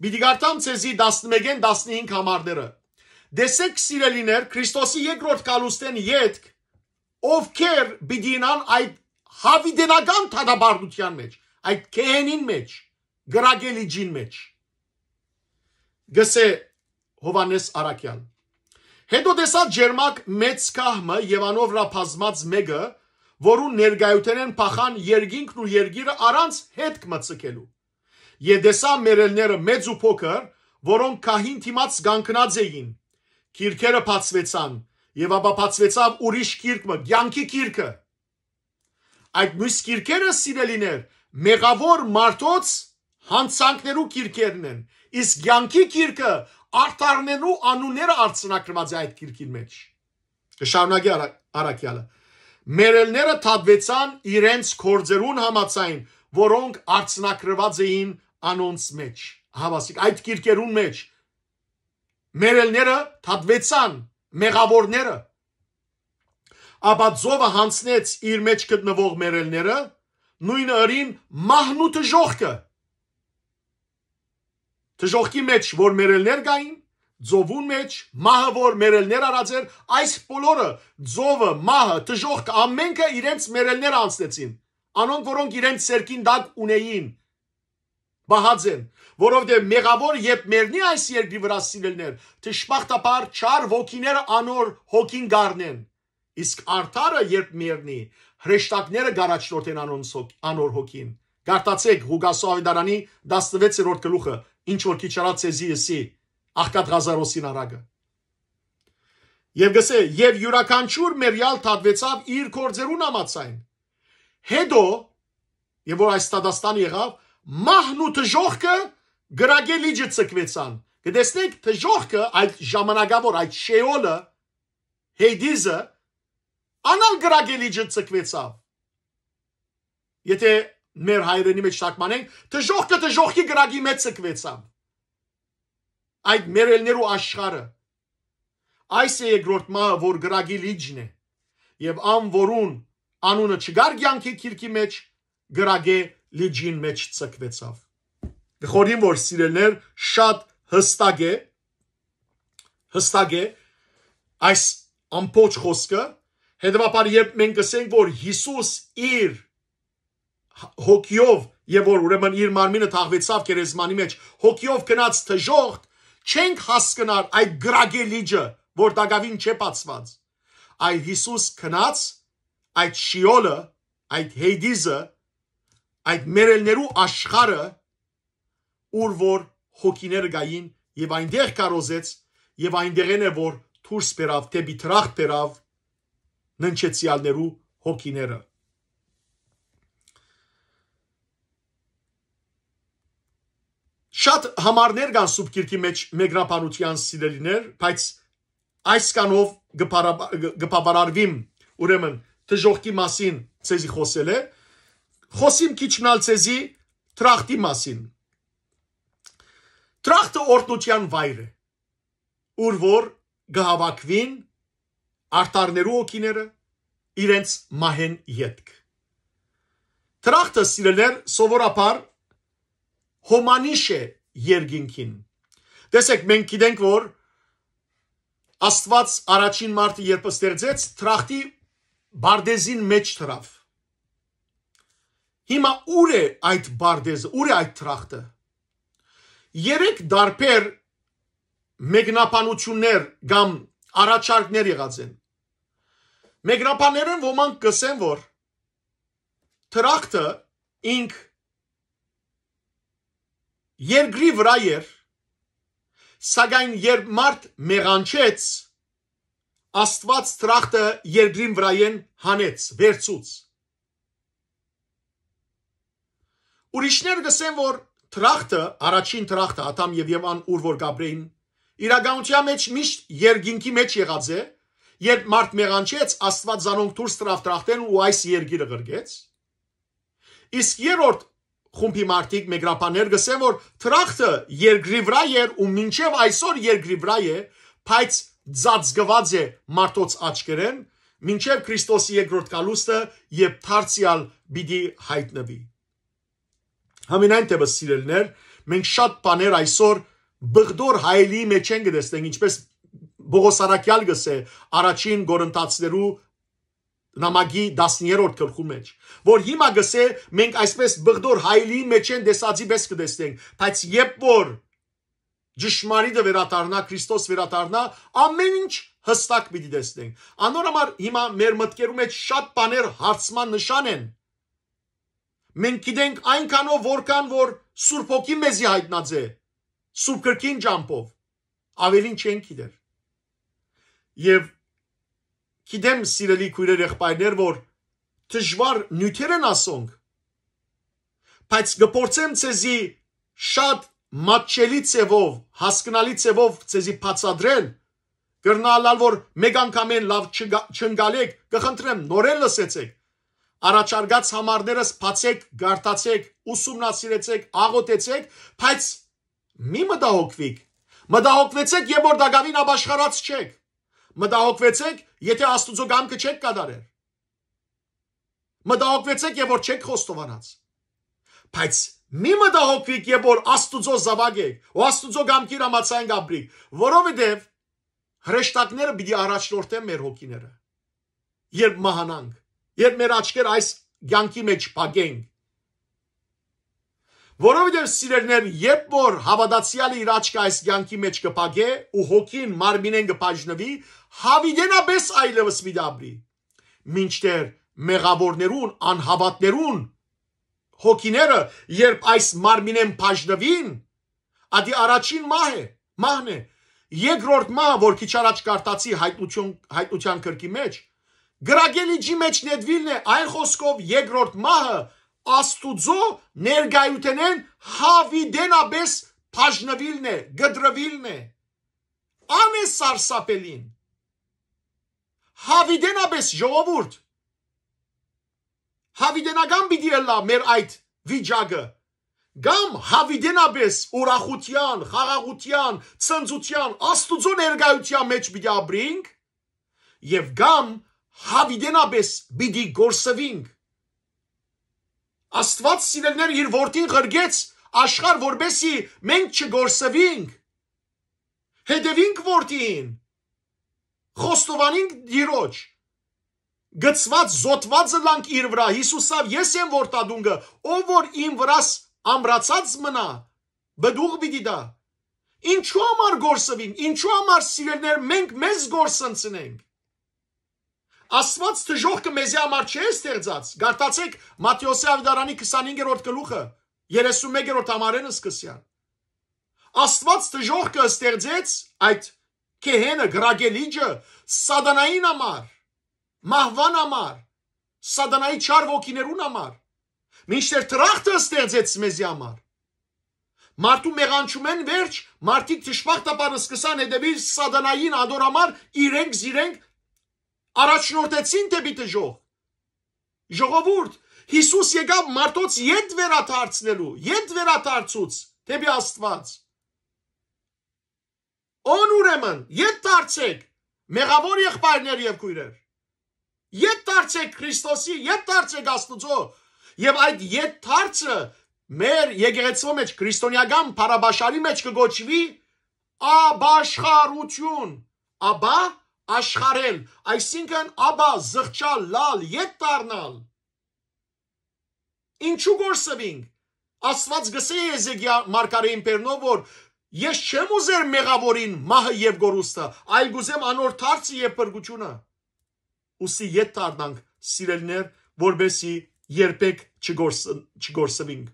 Պիտի կարդամ ձեզի տասնմէկէն տասնհինգ համարները։ Տեսէք, սիրելիներ, Քրիստոսի երկրորդ գալուստէն ետք ովքեր պիտի ինան այդ յաւիտենական դատապարտութեան մեջ, այդ գեհենին մեջ, կրակե լիճին մեջ։ Գսէ Յովհաննէս Առաքեալ։ Հետո տեսայ ճերմակ մեծ գահ մը եւ անով վրայ բազմած մէկը, որուն ներկայութենէն փախան երկինքն ու երկիրը առանց յետք մը ձգելու։ Եւ տեսայ մեռելները, մեծ ու փոքր, որոնք գահին դիմաց կանգնած էին, գիրքերը բացուեցան, եւ ապա բացուեցաւ ուրիշ գիրք մը, կեանքի գիրքը։ Այդ միւս գիրքերը, սիրելիներ, մեղաւոր մարդոց յանցանքներու գիրքերն են, իսկ կեանքի գիրքը արդարներու անունները արձանագրուած է այդ գիրքին մեջ։ Կը շարունակի Արա-, Առաքեալը։ Մեռելները թատուեցան իրենց գործերուն համաձայն, որոնք արձանագրուած էին անոնց մեջ։ Ահա, ասիկ, այդ գիրքերուն մեջ մեռելները թատուեցան, մեղաւորները։ Ապա ծովը յանցնեց իր մեջ գտնուող մեռելները, նոյնը ըրին մահն ու դժոխքը։ Դժոխքի մեջ, որ մեռելներ կային, ծովուն մեջ, մահը, որ մեռելներ առած էր, այս բոլորը, ծովը, մահը, դժոխքը, ամենքը իրենց մեռելները անցնեցին, անոնք, որոնք իրենց ձեռքին տակ ունեին, պահած են, որովհետեւ մեղաւոր երբ մեռնի այս երկրի վրայ, սիրելիներ, դժբախտաբար չար ոգիները անոր հոգին կառնեն, իսկ արդարը երբ մեռնի, հրեշտակները կառաջնորդեն անոնց հոգ-, անոր հոգին։ Կարդացեք Ղուկասու աւետարանի տասնվեցերորդ գլուխը, ինչ որ քիչ առաջ ձեզի ըսի, աղքատ Ղազարոսին առակը։ Եւ գսէ, եւ իւրաքանչիւր մեռեալ թատուեցաւ իր գործերուն համաձայն։ Հետո, եւ որ այս դատաստան եղաւ, մահն ու դժոխքը կրակե լիճը ձգուեցան, Կը տեսնենք դժոխքը, այդ ժամանակաւոր, այդ շեոլը, Հեյդիզը, անալ կրակի լիճը ցկուեցաւ։ Եթե մեր հայրենի մեջ թարգմանենք, դժոխքը դժոխքի կրակի մեջ ցկուեցաւ։ Այդ մեռելներու աշխարհը։ Այս է երկրորդ մահը, որ կրակի լիճն է։ Եւ ան, որուն անունը չկար կեանքի գիրքի մեջ, կրակի լիճին մեջ ցկուեցաւ։ Կը խորհեմ, որ, սիրելիներ, շատ հստակ է, հստակ է այս ամբողջ խոսքը, հետեւաբար, երբ մենք կ'ըսենք, որ Յիսուս իր հոգիով, եւ որ, ուրեմն, իր մարմինը թաղուեցաւ գերեզմանի մեջ, հոգիով գնաց դժոխք, չենք հասկնար այդ կրակի լիճը, որ տակաւին չէ բացուած, այլ Յիսուս գնաց այդ շիոլը, այդ Հեյդիզը, այդ մեռելներու աշխարհը, ուր որ հոգիները կային, եւ այնտեղ քարոզեց, եւ այնտեղէն է, որ դուրս բերաւ, դէպի դրախտ բերաւ ննջեցեալներու հոգիները։ Շատ համարներ կան Սուրբ Գիրքի մեջ մեկնաբանութեան, սիրելիներ, բայց այսքանով կը բարա-, կը բավարարվիմ, ուրեմն, դժոխքի մասին ձեզի խօսելէ, խօսիմ քիչ մնալ ձեզի դրախտի մասին։ Դրախտը օրհնութեան վայր է, ուր որ կը հաւաքուին արդարներու հոգիները իրենց մահէն ետք։ Դրախտը, սիրելիներ, սովորաբար հոմանիշ է երկինքին։ Տեսեք, մենք գիտենք, որ Աստուած առաջին մարդը երբ ստեղծեց, դրախտի պարտէզին մեջ դրաւ։ Հիմա ո՞ւր է այդ պարտէզը, ո՞ւր է այդ դրախտը։ Երեք տարբեր մեկնաբանութիւններ կամ առաջարկներ եղած են։ Մեկնաբաններէն ոմանք կ'ըսեն, որ դրախտը ինք երկրի վրայ էր, սակայն երբ մարդ մեղանչեց, Աստուած դրախտը երկրին վրայէն հանեց, վերցուց։ Ուրիշներ կ'ըսեն, որ դրախտը, առաջին դրախտը, Ադամ եւ Եվան ուր որ կ'ապրէին, իրականութեան մեջ միշտ երկինքի մեջ եղած է, երբ մարդ մեղանչեց, Աստուած զանոնք դուրս դրաւ դրախտէն ու այս երկիրը ղրկեց։ Իսկ երրորդ խումբի մարդիկ, մեկնաբաններ, կ'ըսեն, որ դրախտը երկրի վրայ էր ու մինչեւ այսօր երկրի վրայ է, բայց ծածկուած է մարդոց աչքերէն, մինչեւ Քրիստոսի երկրորդ գալուստը, երբ դարձեալ պիտի յայտնուի։ Համենայն դեպս, սիրելիներ, մենք շատ բաներ այսօր բղդոր հայելիի մեջ են կը տեսնենք, ինչպես Պողոս առաքեալ կ'ըսէ առաջին Կորինթացիներու նամակի տասներորդ գլխու մեջ, որ հիմա կ'ըսէ, մենք այսպես բղդոր հայելիի մեջ են տեսածի պես կը տեսնենք, բայց երբ որ ճշմարիտը վերադառնայ, Քրիստոս վերադառնայ, ամէն ինչ հստակ պիտի տեսնենք։ Անոր համար հիմա մեր մտքերու մեջ շատ բաներ հարցման նշան են։ Մենք գիտենք այնքանով, որքան որ Սուրբ Հոգին մեզի յայտնած է, Սուրբ Գրքին ճամբով, աւելին չենք գիտեր։ Եւ գիտեմ, սիրելի քոյրեր, եղբայրներ, որ դժուար նիւթեր են ասոնք, բայց կը փորձեմ ձեզի շատ մատչելի ձևով, հասկնալի ձևով ձեզի բացատրել, կրնայ ըլլալ, որ մեկ անգամէն լաւ չգա-, չընկալէք, կը խնդրեմ, նորէն լսեցեք, առաջարկած համարներս բացեք, կարդացեք, ուսումնասիրեցեք, աղօթեցեք, բայց մի մտահոգվիք։ Մտահոգվեցեք, երբ որ տակաւին ապաշխարած չեք։ Մտահոգվեցեք, եթե Աստուծոյ կամքը չեք կատարեր։ Մտահոգվեցեք, երբ որ չեք խոստովանած։ Բայց մի մտահոգվիք, երբ որ Աստուծոյ զաւակ եք ու Աստուծոյ կամքին համաձայն կ'ապրիք, որովհետեւ հրեշտակները պիտի առաջնորդեն մեր հոգիները, երբ մահանանք, երբ մեր աչքերը այս կեանքի մեջ փակենք։ Որովհետեւ, սիրելիներ, երբ որ հաւատացեալը իր աչքը այս կեանքի մեջ կը փակէ ու հոգին մարմինէն կը բաժնուի, յաւիտենապէս այլեւս պիտի ապրի, մինչդեռ մեղաւորներուն, անհաւատներուն հոգիները, երբ այս մարմինէն բաժնուին, ատի առաջին մահ է, մահն է։ Երկրորդ մահը, որ քիչ առաջ կարդացի Հայտնություն, Հայտնության գրքի մեջ, կրակի լիճի մեջ նետուիլն է, այն խոսքով երկրորդ մահը Աստուծոյ ներկայութենէն յաւիտենապէս բաժնուիլն է, կտրուիլն է։ Ան է սարսափելին։ Հաւիտենապէս, ժողովուրդ, հաւիտենական պիտի ըլլայ մեր այդ վիճակը, կամ հաւիտենապէս ուրախութեան, խաղաղութեան, ցնծութեան, Աստուծոյ ներկայութեան մէջ պիտի ապրինք, եւ կամ հաւիտենապէս պիտի կորսուինք։ Աստուած, սիրելիներ, իր որդին ղրկեց աշխարհ, որպեսզի մենք չկորսուինք, հետեւինք որդին, խոստովանինք Տիրոջ, գցուած, զոդուած ըլլանք իր վրայ։ Յիսուս ըսաւ. «Ես եմ որդատունկը, ով որ իմ վրաս ամրացած մնայ, պտուղ պիտի տայ»։ Ինչու համար կորսուինք, ինչու համար, սիրելիներ, մենք մեզ կորսնցնենք։ Աստուած դժոխքը մեզի համար չէ ստեղծած։ Կարդացէք Մատթէոսի աւետարանի քսանհինգերորդ գլուխը, երեսունմեկերորդ համարէն սկսեալ։ Աստուած դժոխքը ստեղծեց, այդ գեհենը, կրակելիճը, սատանային համար, մահուան համար, սատանայի չար ոգիներուն համար, մինչդեռ դրախտը ստեղծեց մեզի համար։ Մարդու մեղանչումէն վերջ մարդիկ դժբախտաբար սկսան հետևիլ սատանային, անոր համար իրենք զիրենք առաջնորդեցին դէպի դժոխք։ Ժողովուրդ, Յիսուս եկաւ մարդոց ետ վերադարձնելու, ետ վերադարձուց դէպի Աստուած։ Ո՞ն ուրեմն, ետ դարձէք, մեղաւոր եղբայրներ եւ քոյրեր։ Ետ դարձէք Քրիստոսի, ետ դարձէք Աստուծոյ։ Եւ այդ ետ դարձը մեր եկեղեցւոյ մէջ, քրիստոնեական բառապաշարի մէջ կը կոչուի ապաշխարութիւն, ապա աշխարհել, այսինքն ապա զղջալ, լալ, ետ դառնալ։ Ինչու կորսուինք։ Աստուած գսէ Եզեկիա մարգարէին բերնով, որ ես չեմ ուզեր մեղաւորին մահը եւ կորուստը, այլ կուզեմ անոր դարձը եւ փրկութիւնը։ Ուստի ետ դառնանք, սիրելիներ, որպեսզի երբեք չկորս-, չկորսվինք։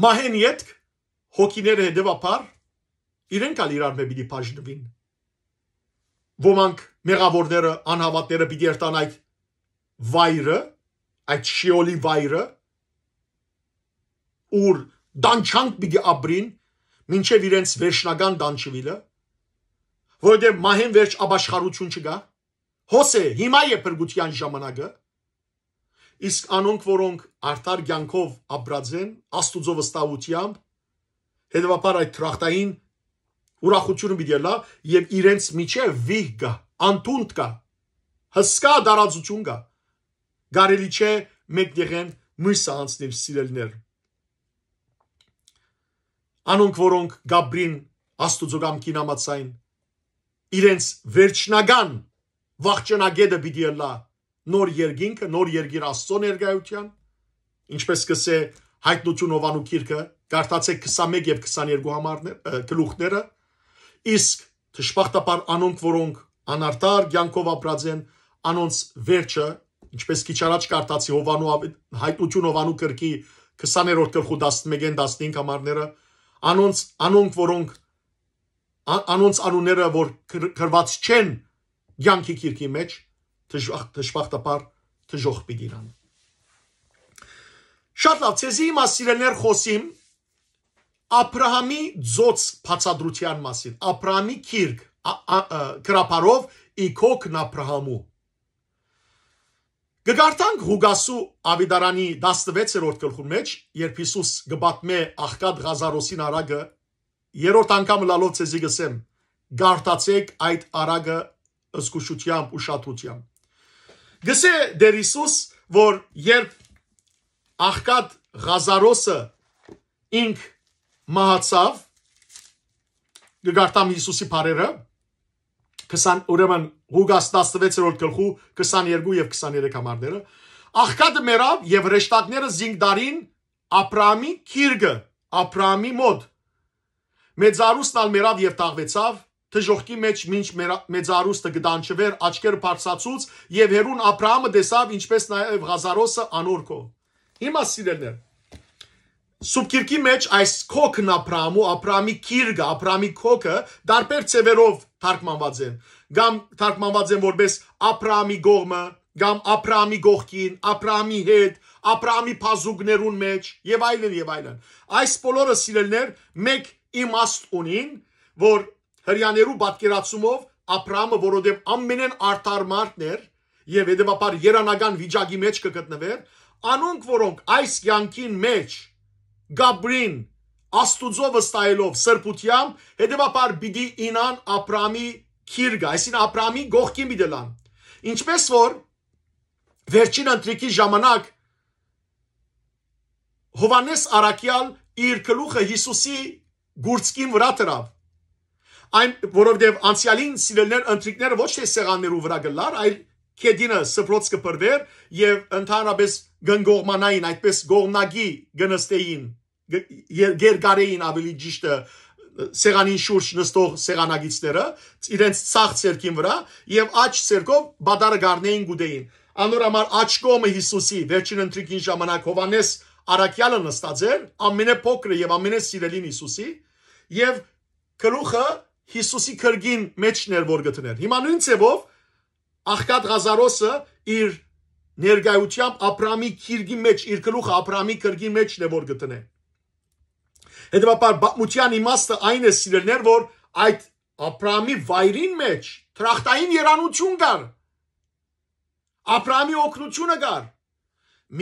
Մահէն ետք հոգիները հետեւաբար իրենք ալ իրարմէ պիտի բաժնուին։ Ոմանք մեղաւորները, անհաւատները պիտի երթան այդ վայրը, այդ Շեոլի վայրը, ուր տանջանք պիտի ապրին մինչեւ իրենց վերջնական տանջուիլը, որովհետեւ մահէն վերջ ապաշխարութիւն չկայ։ Հոս է, հիմա է փրկութեան ժամանակը, իսկ անոնք, որոնք արդար կեանքով ապրած են, Աստուծոյ վստահութեամբ, հետեւաբար այդ դրախտային ուրախութիւնը պիտի ըլլայ եւ իրենց միջեւ վիհ կայ, անդունդ կայ, հսկայ տարածութիւն կայ, կարելի չէ մեկտեղէն մոյսը անցնիլ, սիրելիներ։ Անոնք, որոնք կապրին Աստուծոյ կամքին համաձայն, իրենց վերջնական վախճանակետը պիտի ըլլայ նոր երկինքը, նոր երկիր Աստուծոյ ներկայութեան, ինչպես կսէ Հայտնութիւն Յովհաննու գիրքը, կարդացէք քսանմէկ եւ քսաներկու համարներ, ը, գլուխները, իսկ դժբախտաբար անոնք, որոնք անարդար կեանքով ապրած են, անոնց վերջը, ինչպես քիչ առաջ կարդացի Յովհաննու ավ-, Հայտնութիւն Յովհաննու գրքի քսաներորդ գլխու տասնմէկէն տասնհինգ համարները, անոնց, անոնք, որոնք, ա-, անոնց անունները, որ կր-, գրված չեն կեանքի գիրքի մէջ, դժբախ-, դժբախտաբար դժոխք պիտի իրան։ Շատ լավ, ցեզի հիմա, սիրելիներ, խօսիմ Աբրահամի ծոց բացատրութեան մասին, Աբրահամի գիրք, ա-, ա-, ը, գրաբարով ի քոքն Աբրահամու։ Կը կարդանք Ղուկասու աւետարանի տասնվեցերորդ գլխուն մէջ, երբ Յիսուս կը պատմէ աղքատ Ղազարոսին արագը, երրորդ անգամ լալով ցեզի կսեմ, կարդացէք այդ արագը զգուշութեամբ, ուշադրութեամբ։ Գսէ Տէր Յիսուս, որ երբ աղքատ Ղազարոսը ինք մահացաւ, կը կարդամ Յիսուսի բառերը, քսան, ուրեմն Ղուկաս տասնվեցերորդ գլխու քսաներկու եւ քսաներեք համարները, աղքատը մեռաւ եւ հրեշտակները զինք դարին Աբրահամի գիրկը, Աբրահամի մօտ։ Մեծարուստն ալ մեռաւ եւ թաղուեցաւ, դժոխքի մէջ մինչ մեռա-, մեծարուստը կը տանջուէր, աչքերը բարձրացուց եւ հեռուն Աբրահամը տեսաւ, ինչպես նաեւ Ղազարոսը անոր քով։ Հիմա, սիրելիներ, Սուրբ Գիրքի մէջ այս քոքն Աբրահամու, Աբրահամի գիրկը, Աբրահամի քոքը տարբեր ձևերով թարգմանուած են, կամ թարգմանուած են որպես Աբրահամի կողմը, կամ Աբրահամի կողքին, Աբրահամի հետ, Աբրահամի բազուկներուն մէջ, եւ այլն, եւ այլն։ Այս բոլորը, սիրելիներ, մէկ իմաստ ունին, որ Հրեաներու պատկերացումով Աբրահամը, որովհետեւ ամենէն արդար մարդն էր, եւ հետեւաբար երանական վիճակի մէջ կը գտնուէր, անոնք, որոնք այս կեանքին մէջ կ'ապրին Աստուծոյ վստահելով սրբութեամբ, հետեւաբար պիտի իյնան Աբրահամի գիրկը, այսինքն Աբրահամի կողքին պիտի ըլլան։ Ինչպէս որ վերջին ընթրիքի ժամանակ Յովհաննէս Առաքեալ իր գլուխը Յիսուսի գուրծքին վրայ դրաւ։ Այն, որովհետեւ անցեալին, սիրելիներ, ընթրիքները ոչ թէ սեղաններու վրայ կ'ըլլար, այլ գետինը սփռոց կը փռուէր եւ ընդհանրապէս կ'ընկողմանային, այդպէս կողմնակի կը նստէին, կը-, եր-, կ'երկարէին, ավելի ճիշդը, սեղանին շուրջ նստող սեղանագիցները, իրենց ձախ ձեռքին վրայ, եւ աջ ձեռքով պատարը կ'առնէին, կ'ուտէին։ Անոր համար աջ կողմը Յիսուսի վերջին ընթրիքին ժամանակ Յովհաննէս Առաքեալը նստած էր, ամենափոքրը եւ ամենասիրելին Յիսուսի, եւ գլուխը Յիսուսի կրկին մէջն էր, որ կը դներ։ Հիմա նոյն ձեւով աղքատ Ղազարոսը իր ներկայութեամբ Աբրահամի գիրկի մէջ, իր գլուխը Աբրահամի գիրկի մէջն է, որ կը դնէ։ Հետեւաբար, պատմութեան իմաստը այն է, սիրելիներ, որ այդ Աբրահամի վայրին մէջ դրախտային երանութիւն կար, Աբրահամի օգնութիւնը կար,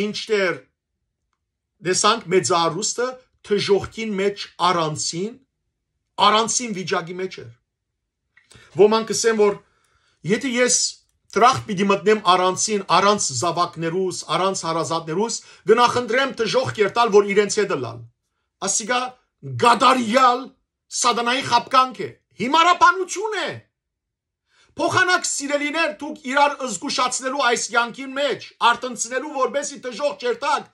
մինչդեռ, տեսանք, մեծարուստը դժոխքին մէջ առանցին, առանցին վիճակի մէջ էր։ Ոմանք կ'ըսեն, որ եթէ ես դրախտ պիտի մտնեմ առանցին, առանց զաւակներուս, առանց հարազատներուս, կը նախընտրեմ դժոխք երթալ, որ իրենց հետ ըլլալ։ Ասիկա կատարեալ սատանայի խաբկանք է, հիմարաբանութիւն է։ Փոխանակ, սիրելիներ, դուք իրար զգուշացնելու այս կեանքին մէջ, արթնցնելու, որպեսզի դժոխք չերթաք։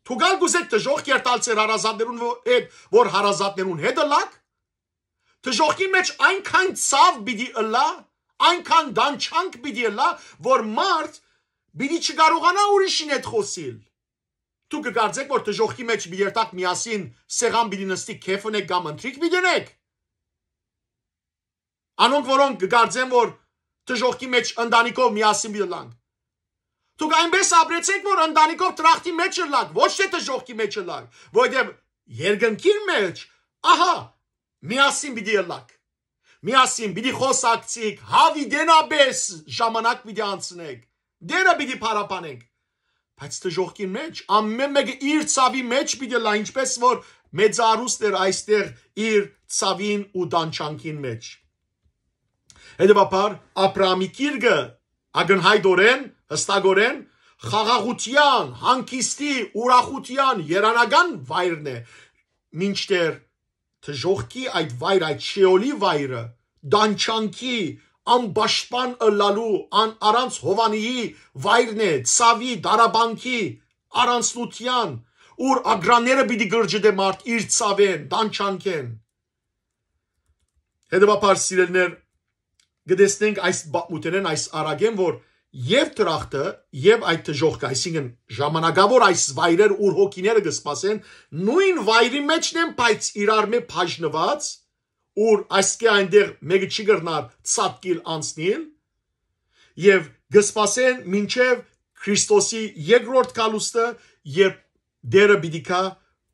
Դուք ալ կ'ուզէք դժոխք երթալ ձեր հարազատներուն ո-, հետ, որ հարազատներուն հետ ըլլաք։ Դժոխքի մէջ այնքան ցաւ պիտի ըլլայ, այնքան տանջանք պիտի ըլլայ, որ մարդ պիտի չկարողանայ ուրիշին հետ խօսիլ։ Դուք կը կարծէք, որ դժոխքի մէջ պիտի երթաք միասին, սեղան պիտի նստի, քեֆ ընէք կամ ընթրիք պիտի ընէք։ Անոնք, որոնք կը կարծեն, որ դժոխքի մէջ ընտանիքով միասին պիտի ըլլանք։ Դուք այնպէս ապրեցէք, որ ընտանիքով դրախտի մէջ ըլլաք, ոչ թէ դժոխքի մէջ ըլլաք, որովհետեւ երկնքին մէջ, ահա, միասին պիտի ըլլաք։ Միասին պիտի խօսակցիք, հաւիտենապէս ժամանակ պիտի անցնեք, Տէրը պիտի փառաբանենք։ Բայց դժոխքին մէջ, ամէն մէկը իր ցաւի մէջ պիտի ըլլայ, ինչպէս որ մեծարուս էր այստեղ իր ցաւին ու տանջանքին մէջ։ Հետեւաբար, Աբրահամի գիրկը ակնյայտօրէն, յստակօրէն խաղաղութեան, հանգիստի, ուրախութեան երանական վայրն է, մինչդեռ դժոխքի այդ վայր, այդ շեոլի վայրը, տանջանքի, անպաշտպան ըլլալու, ան-, առանց հովանիի վայրն է, ցաւի, դարաբանքի, առանցնութեան, ուր ագրանները պիտի գրջդէ մարդ իր ցաւէն, տանջանքէն։ Հետեւաբար, սիրելիներ, կը տեսնենք այս պատմութենէն, այս առակէն, որ եւ դրախտը, եւ այդ դժոխքը, այսինքն ժամանակաւոր այս վայրեր, ուր հոգիները կը սպասեն, նոյն վայրի մէջն են, բայց իրարմէ բաժնուած, ուր այսքէ այնտեղ մէկը չի կրնար ցատկիլ անցնիլ, եւ կը սպասեն մինչեւ Քրիստոսի երկրորդ գալուստը, երբ Տէրը պիտի գայ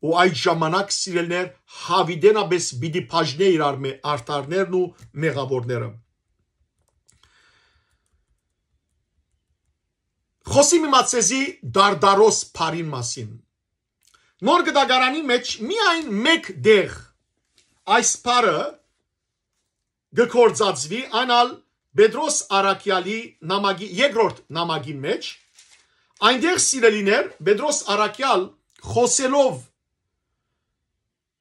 ու այդ ժամանակ, սիրելիներ, հաւիտենապէս պիտի բաժնէ իրարմէ արդարներն ու մեղաւորները։ Խօսիմ իմացեզի Դարդարոս փարին մասին։ Նոր Կտակարանի մէջ միայն մէկ տեղ այս փարը կը գործածուի, այն ալ Պետրոս Առաքեալի նամակի, երկրորդ նամակին մէջ, այնտեղ, սիրելիներ, Պետրոս Առաքեալ խօսելով,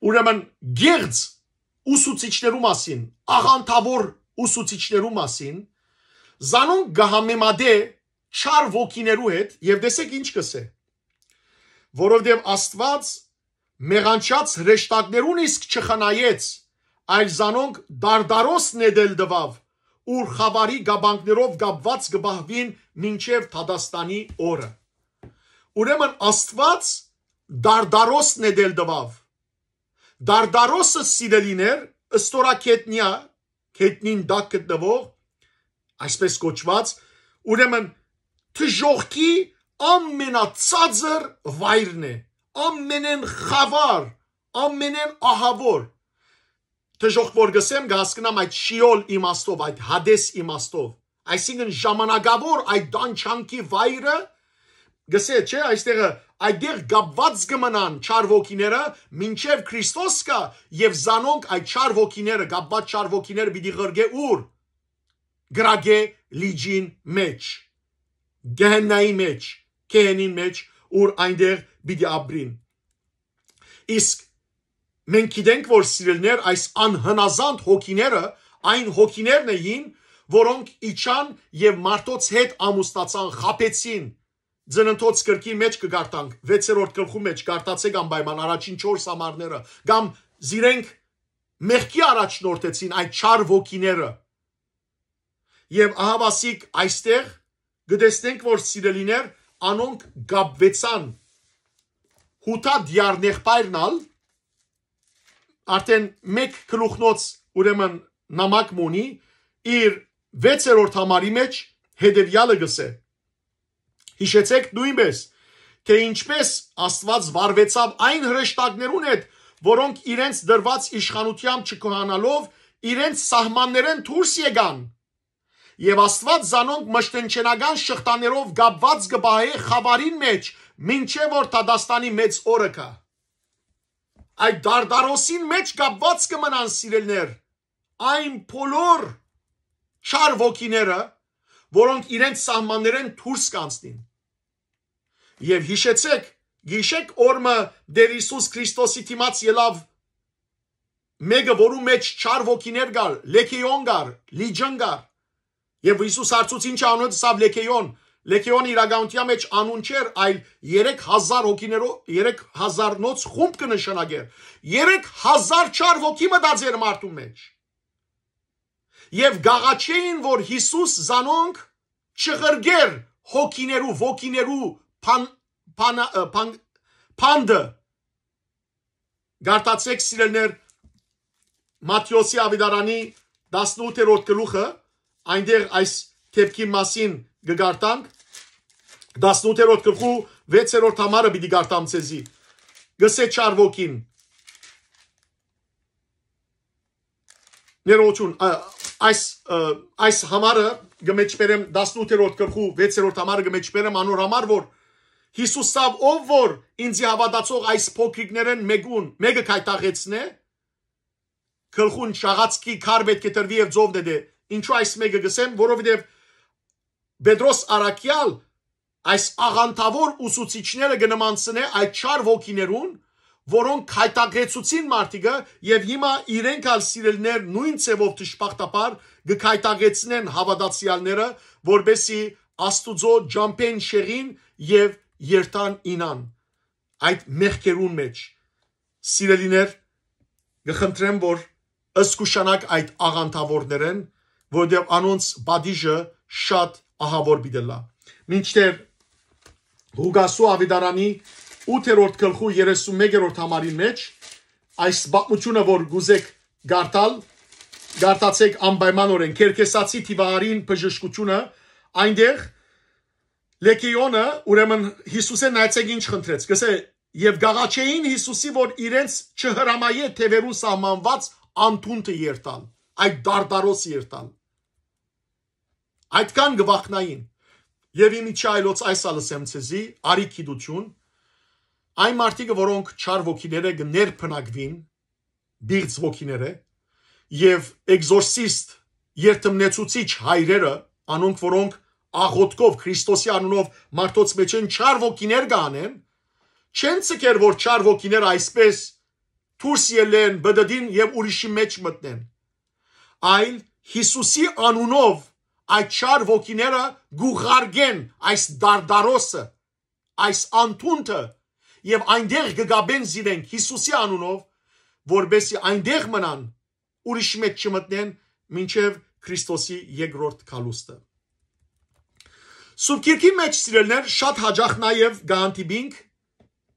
ուրեմն, գեղձ ուսուցիչներու մասին, աղանդաւոր ուսուցիչներու մասին, զանոնք կը համեմատէ չար ոգիներու հետ, եւ տեսեք ինչ կ'ըսէ. որովհետեւ Աստուած մեղանչած հրեշտակներուն իսկ չխնայեց, այլ զանոնք Դարդարոս նետել տուաւ, ուր խաւարի կապանքներով կապուած կը պահուին մինչեւ դատաստանի օրը։ Ուրեմն Աստուած Դարդարոս նետել տուաւ։ Դարդարոսը, սիրելիներ, ստորագետնեա, գետնին տակ գտնուող, այսպես կոչուած, ուրեմն դժոխքի ամենածածր վայրն է, ամենեն խաւար, ամենեն ահաւոր։ Դժոխք որ գսեմ, կը հասկնամ այդ շիոլ իմաստով, այդ հադես իմաստով, այսինքն ժամանակաւոր այդ տանջանքի վայրը, գսե, չէ, այստեղը, այդտեղ կապուած կը մնան չար ոգիները, մինչեւ Քրիստոս գայ, եւ զանոնք այդ չար ոգիները, կապուած չար ոգիները պիտի ղրկէ ուր, կրակէ լիճին մէջ, գեհեննայի մէջ, գեհենին մէջ, ուր այնտեղ պիտի ապրին։ Իսկ մենք գիտենք, որ սիրելիներ, այս անհնազանդ հոգիները այն հոգիներն էին, որոնք իջան եւ մարդոց հետ ամուսնացան, խաբեցին։ Ծննդոց գրքին մէջ կը կարդանք, վեցերորդ գլխու մէջ, կարդացէք անպայման առաջին չորս համարները, կամ զիրենք մեղքի առաջնորդեցին այդ չար ոգիները։ Եւ ահավասիկ այստեղ կը տեսնենք, որ սիրելիներ, անոնք կապուեցան Յուդա դիարնեղբայրն ալ, արդեն մէկ գլուխնոց, ուրեմն նամակ մունի, իր վեցերորդ համարի մէջ հետեւեալը գսե. Յիշեցէք նոյնպէս, թէ ինչպէս Աստուած վարուեցաւ այն հրեշտակներուն հետ, որոնք իրենց դրուած իշխանութեամբ չքոհանալով իրենց սահմաններէն դուրս եկան։ Եւ Աստուած զանոնք մշտնչենական շղթաներով կապուած կը պահէ խաւարին մէջ, մինչեւ որ դատաստանի մեծ օրը գայ։ Այդ դարդարոսին մէջ կապուած կը մնան, սիրելիներ, այն բոլոր չար ոգիները, որոնք իրենց սահմաններէն դուրս կանցնին։ Եւ յիշեցէք, գիշեք օրը Տէր Յիսուս Քրիստոսի դիմաց ելաւ մէկը, որու մէջ չար ոգիներ կար, լեգէոն կար, լիճն կար։ Եւ Յիսուս հարցուց. «Ի՞նչ անունը», ըսաւ. «Լեգէոն»։ Լեգէոնը իրականության մէջ անուն չէր, այլ երեք հազար հոգիներով, երեք հազարնոց խումբ կը նշանակէր։ Երեք հազար չար ոգի մտած էր մարդուն մէջ։ Եւ կ'աղաչէին, որ Յիսուս զանոնք չղրկէր հոգիներու, ոգիներու փան-, փանա-, ը, փան-, փանդը»։ Կարդացէք, սիրելիներ, Մատթէոսի աւետարանի տասնութերորդ գլուխը, այնտեղ այս դեպքին մասին կը կարդանք, տասնութերորդ գլխու վեցերորդ համարը պիտի կարդամ ձեզի։ Գսե չար ոգին. ներողություն, ա, այս, ը, այս համարը կը մեջբերեմ, տասնութերորդ գլխու վեցերորդ համարը կը մեջբերեմ անոր համար, որ Յիսուս ասաւ. «Ով որ ինձի հաւատացող այս փոքրիկներէն մեկուն, մէկը գայթակղեցնէ, գլխուն շաղացքի քար պէտք է տրուի եւ ծովն է դէ»։ Ինչու այս մէկը գսեմ, որովհետեւ Պետրոս առաքեալ այս աղանդաւոր ուսուցիչները կը նմանցնէ այդ չար ոգիներուն, որոնք գայթակղեցուցին մարդիկը, եւ հիմա իրենք ալ, սիրելիներ, նոյն ձեւով դժբախտաբար կը գայթակղեցնեն հաւատացեալները, որպէսզի Աստուծոյ ճամբէն շեղին եւ երթան, իյնան այդ մեղքերուն մէջ։ Սիրելիներ, կը խնդրեմ, որ զգուշանաք այդ աղանդաւորներէն, որովհետեւ անոնց պատիժը շատ ահաւոր պիտի ըլլայ։ Մինչդեռ Ղուկասու աւետարանի ութերորդ գլխու երեսունմեկերորդ համարին մէջ այս պատմութիւնը, որ կ'ուզէք կարդալ, կարդացէք անպայմանօրէն։ Կերկեսացի դիւահարին բժշկութիւնը, այնտեղ Լեգէոնը, ուրեմն, Յիսուսէն նայեցէք ինչ խնդրեց։ Գսե. «Եւ կ'աղաչէին Յիսուսի, որ իրենց չհրամայէ թեւերուն սահմանուած անդունդը երթալ, այդ դարդարոս երթալ»։ Այդքան կը վախնային։ Եւ ի միջի այլոց այս ալ ըսեմ ձեզի, արի գիտութիւն, այն մարդիկը, որոնք չար ոգիներէ կը ներբնակուին, պիղծ ոգիներէ, եւ էկզորսիստ, երդմնեցուցիչ հայրերը, անոնք, որոնք աղոթքով, Քրիստոսի անունով մարդոց մէջէն չար ոգիներ կ'անեն, չեն ձգեր, որ չար ոգիները այսպես դուրս ելլեն, բդդին եւ ուրիշի մէջ մտնեն, այլ Յիսուսի անունով այդ չար ոգիները կ'ուղարկեն այս դարդարոսը, այս անդունդը, եւ այնտեղ կը կապեն զիրենք Յիսուսի անունով, որպեսզի այնտեղ մնան, ուրիշ մէջ չմտնեն, մինչեւ Քրիստոսի երկրորդ գալուստը։ Սուրբ Գիրքի մէջ, սիրելիներ, շատ յաճախ նաեւ կը հանդիպինք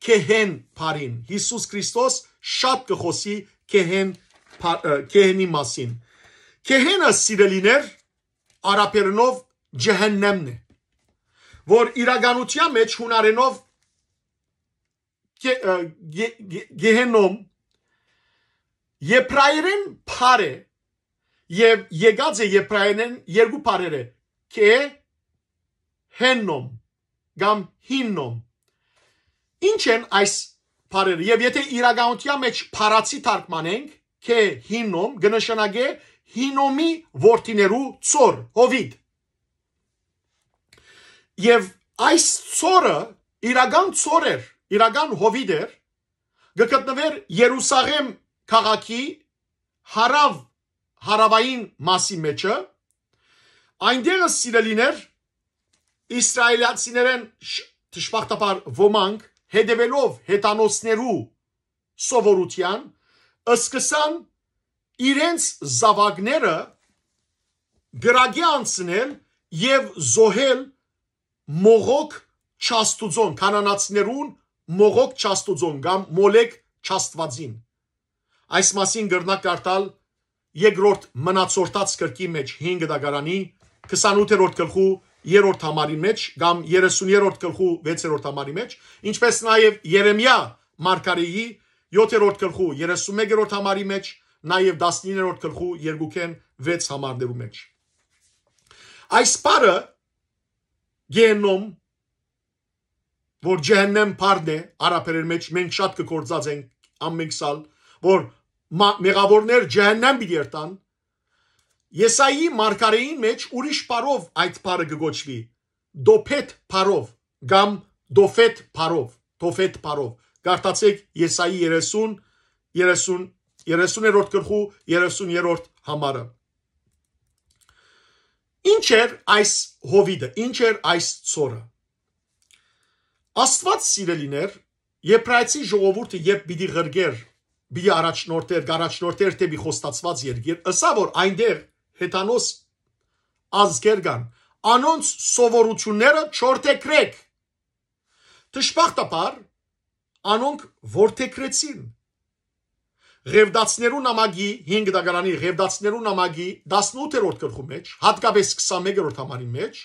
գեհեն բառին։ Յիսուս Քրիստոս շատ կը խօսի գեհեն բա-, ը, գեհենի մասին։ Գեհենը, սիրելիներ, արաբերենով ջեհեննեմն է, որ իրականության մեջ հունարենով գե-, ը, գե-, գե-, գեհենոմ, եբրայերէն բառ է, եւ եկած է եբրայերէն երկու բառերէ, կե, հեննոմ, կամ հիննոմ։ Ինչ են այս բառերը, եւ եթե իրականության մեջ բառացի թարգմանենք, կե, հիննոմ, կը նշանակէ Հինոմի որդիներու ծոր, Հովիտ։ Եւ այս ծորը իրական ծոր էր, իրական Հովիտ էր, կը գտնուէր Երուսաղէմ քաղաքի հարաւ, հարաւային մասի մեջը, այնտեղը, սիրելիներ, իսրայելացիներէն շ-, դժբախտաբար ոմանք, հետեւելով հեթանոսներու սովորութեան, սկսան իրենց զաւակները կրակի անցնել եւ զոհել Մողոք չաստուծոն, քանանացիներուն Մողոք չաստուծոն կամ Մոլեկ չաստուածին։ Այս մասին կրնաք կարդալ երկրորդ Մնացորդաց գրքի մեջ, հինգ դագարանի քսանութերորդ գլխու երրորդ համարի մեջ կամ երեսուներորդ գլխու վեցերորդ համարի մեջ, ինչպես նաեւ Երեմիա մարգարեի յոթերորդ գլխու երեսունմեկերորդ համարի մեջ, նաեւ տասնիններորդ գլխու երկուքէն վեց համարներու մեջ։ Այս բառը գեհենոմ, որ ջեհեննեմ բառն է արաբերէն մեջ, մենք շատ կը գործածենք ամենքս ալ, որ մա-, մեղաւորներ ջեհեննեմ պիտի երթան, Եսայի մարգարեին մեջ ուրիշ բառով այդ բառը կը կոչուի, Դոփեթ բառով կամ Դոֆեթ բառով, Դոֆեթ բառով։ Կարդացեք Եսայի երեսուն, երեսուն, երեսուներորդ գլխու երեսուներորդ համարը։ Ինչ էր այս Հովիդը, ինչ էր այս ծորը։ Աստուած, սիրելիներ, Եբրայեցի ժողովուրդը երբ պիտի ղրկէր, պիտի առաջնորդեր, կառաջնորդեր դէպի խոստացուած երկիր, ըսա որ այնտեղ հեթանոս ազգեր կան, անոնց սովորութիւնները չորթեքրեք։ Դժբախտաբար, անոնք որդեքրեցին։ Ղևտացիներու նամակի, հինգ դագարանի Ղևտացիներու նամակի տասնութերորդ գլխու մեջ, հատկապես քսանմեկերորդ համարի մեջ,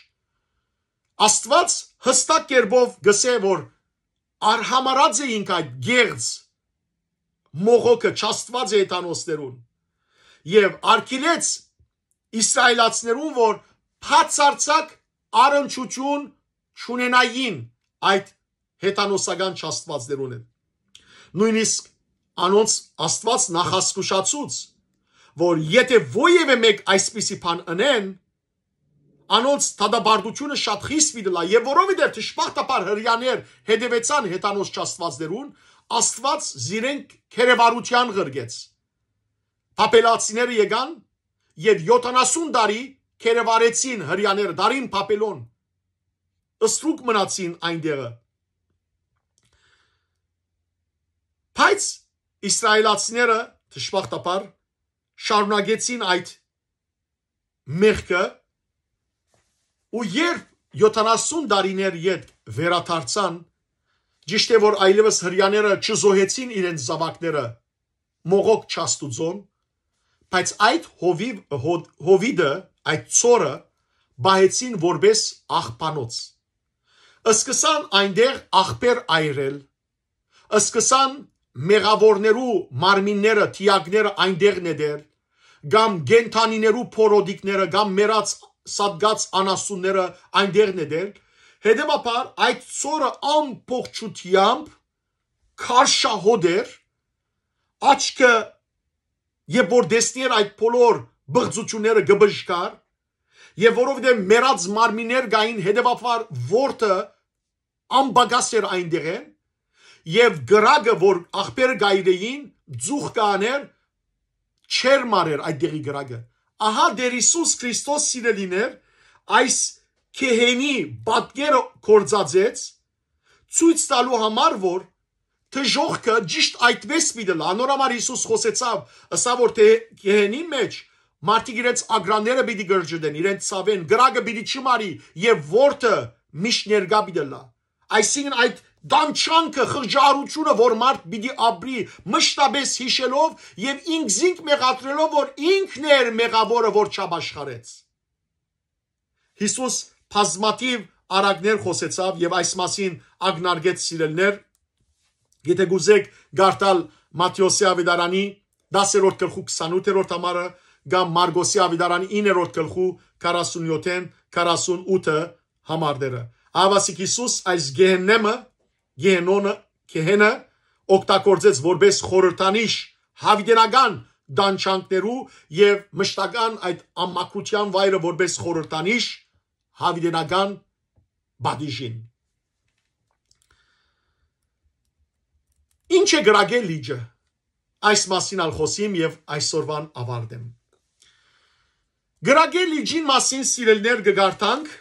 Աստուած յստակ կերպով գսէ որ արհամարած էինք այդ գեղձ Մողոքը, չաստուած է հեթանոսներուն, եւ արգիլեց իսրայելացիներուն որ բացարձակ առնչութիւն չունենային այդ հեթանոսական չաստուածներուն հետ։ Նոյնիսկ անոնց Աստուած նախազգուշացուց, որ եթե ոեւէ մէկ այսպիսի բան ընեն, անոնց դատապարտութիւնը շատ խիստ պիտի լայ, եւ որովհետեւ դժբախտաբար Հրեաներ հետեւեցան հեթանոս չաստուածներուն, Աստուած զիրենք քերեվարութեան ղրկեց։ Բաբելացիները եկան եւ յոթանասուն տարի քերեվարեցին Հրեաները, դարին Բաբելոն, ստրուկ մնացին այնտեղը։ Բայց իսրայելացիները, դժբախտաբար, շարունակեցին այդ մեղքը, ու երբ յոթանասուն տարիներ յետ վերադարձան, ճիշդ է որ այլեւս Հրեաները չզոհեցին իրենց զաւակները Մողոք չաստուծոն, բայց այդ հովիվ-, հո-, հովիդը, այդ ծորը պահեցին որպես աղբանոց։ Սկսան այնտեղ աղբեր այրել, սկսան մեղաւորներու մարմինները, թիակները այնտեղ նետել, կամ կենդանիներու փորոտիքները, կամ մեռած, սատկած անասունները այնտեղ նետել, հետեւաբար այդ ծորը ամբողջությամբ քարշահոտ էր, աչքը, երբ որ տեսնի էր այդ բոլոր բղծությունները, կը բժկար, եւ որովհետեւ մեռած մարմիններ կային, հետեւաբար որդը անպակաս էր այնտեղէն, եւ կրակը, որ աղբերը կայրեին, ձուխ կաներ, չեր մարեր այդ դեղի կրակը։ Ահա Տեր Հիսուս Քրիստոս, սիրելիներ, այս գեհենի պատկերը կործածեց, ցույց տալու համար, որ դժոխքը ճիշտ այդպես պիտի լա։ Անոր համար Հիսուս խօսեցաւ, ըսա որ դե գեհենի մեջ մարդիկ իրենց ագրանները պիտի գրջդեն, իրենց ցաւեն, կրակը պիտի չմարի, եւ որդը միշտ ներկա պիտի լա։ Այսինքն այդ դանչանքը, խղճահարությունը, որ մարդ պիտի ապրի, մշտապես հիշելով եւ ինքզինք մեղադրելով, որ ինքն էր մեղաւորը, որ չապաշխարեց։ Հիսուս բազմաթիվ առակներ խօսեցաւ եւ այս մասին ակնարկեց, սիրելիներ։ Եթէ կուզէք կարդալ Մատթէոսի աւետարանի դասերորդ գլխու քսանութերորդ համարը կամ Մարկոսի աւետարանի իններորդ գլխու քառասունյոթ-ին քառասունութը համարները, ահա ասիկա Յիսուս այս գեհեննեմը, գեհենոնը, գեհենը օգտագործեց որպէս խորհրդանիշ հաւիտենական տանջանքներու եւ մշտական այդ ամակրութեան վայրը որպէս խորհրդանիշ հաւիտենական պատիժին։ Ինչ է կրակե լիճը։ Այս մասին ալ խօսիմ եւ այսօրվան ավարտեմ։ Կրակե լիճին մասին, սիրելիներ, կը կարդանք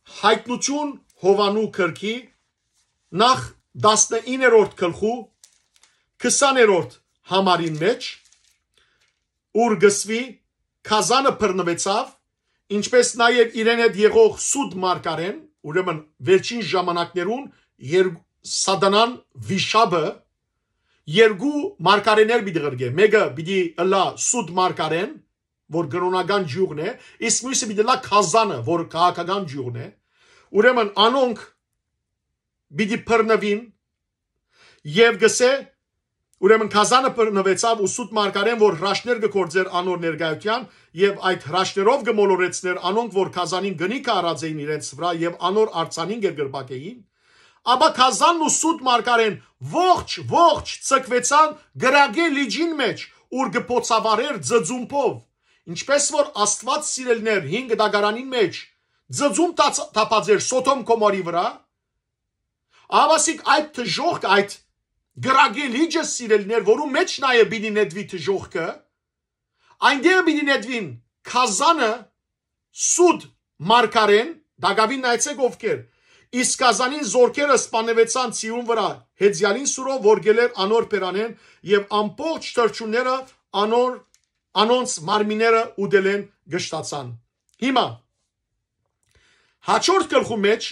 Հայտնություն Յովանու գրքի նախ տասնիններորդ գլխու քսաներորդ համարին մէջ, ուր կսուի. «Գազանը բռնուեցաւ, ինչպէս նաեւ իրեն հետ եղող սուտ մարգարէն», ուրեմն վերջին ժամանակներուն երբ Սատանան վիշապը երկու մարգարէներ պիտի ղրկէ, մէկը պիտի ըլլայ սուտ մարգարէն, որ կրօնական ճիւղն է, իսկ միւսը պիտի ըլլայ գազանը, որ քաղաքական ճիւղն է։ Ուրեմն անոնք պիտի բռնուին եւ գսէ, ուրեմն գազանը բռնուեցաւ ու սուտ մարգարէն, որ հրաշքներ կը գործէր անոր ներկայութեան, եւ այդ հրաշքներով կը մոլորեցնէր անոնք, որ գազանին կնիքը առած էին իրենց վրայ եւ անոր արձանին կերկրպագ էին, ապա գազանն ու սուտ մարգարէն ողջ, ողջ ցկուեցան կրակի լիճին մէջ, ուր կը փոցավառէր ձծումբով, ինչպէս որ Աստուած, սիրելիներ, հին կտակարանին մէջ ձծում տաց-, տապած էր Սոդոմ Գոմորի վրայ, ահա ասիկ այդ դժոխքը, այդ կրակի լիճը, սիրելիներ, որու մէջ նաեւ պիտի նետուի դժոխքը, այնտեղ պիտի նետուին գազանը, սուտ մարգարէն, տակաւին նայեցէք ովքեր, իսկ գազանին զորքերը սպաննուեցան Ցիուն վրայ, հեծեալին սուրով, որ գելեր անոր բերանէն, եւ ամբողջ թռչունները անոր, անոնց մարմինները ուտելէն կշտացան։ Հիմա, հաջորդ գլխու մէջ,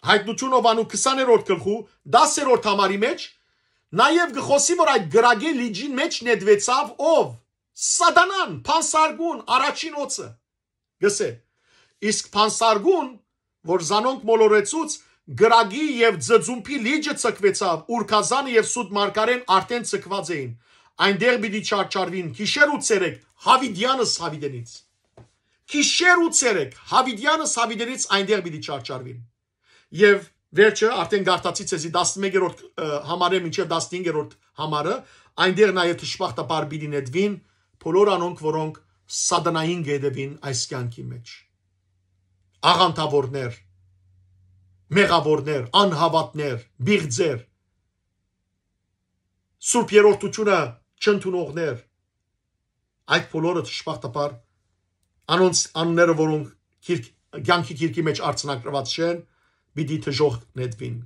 Հայտնություն Յովանու քսաներորդ գլխու դասերորդ համարի մէջ, նաեւ կը խօսի, որ այդ կրակի լիճին մէջ նետուեցաւ ով։ Սատանան, Փանսարկուն, առաջին օծը, գսէ։ Իսկ Փանսարկուն, որ զանոնք մոլորեցուց, կրակի եւ ձծումբի լիճը ցկուեցաւ, ուր գազանը եւ սուտ մարգարէն արդէն ցկուած էին։ Այնտեղ պիտի չարչարուին գիշեր ու ցերեկ, հաւիտեանս հաւիտենից։ Գիշեր ու ցերեկ, հաւիտեանս հաւիտենից այնտեղ պիտի չարչարուին։ Եւ վերջը, արդէն կարդացի ձեզի տասնմեկերորդ, ը, համարէ մինչեւ տասնհինգերորդ համարը, այնտեղ նաեւ դժբախտաբար պիտի նետուին բոլոր անոնք, որոնք Սատանային կ'ետեւին այս կեանքի մէջ։ Աղանդաւորներ, մեղաւորներ, անհաւատներ, պիղծեր, Սուրբ Երրորդութիւնը չընդունողներ, այդ բոլորը դժբախտաբար անոնց անունները, որոնք գիրք-, կեանքի գիրքի մէջ արձանագրուած չեն, պիտի դժոխք նետուին։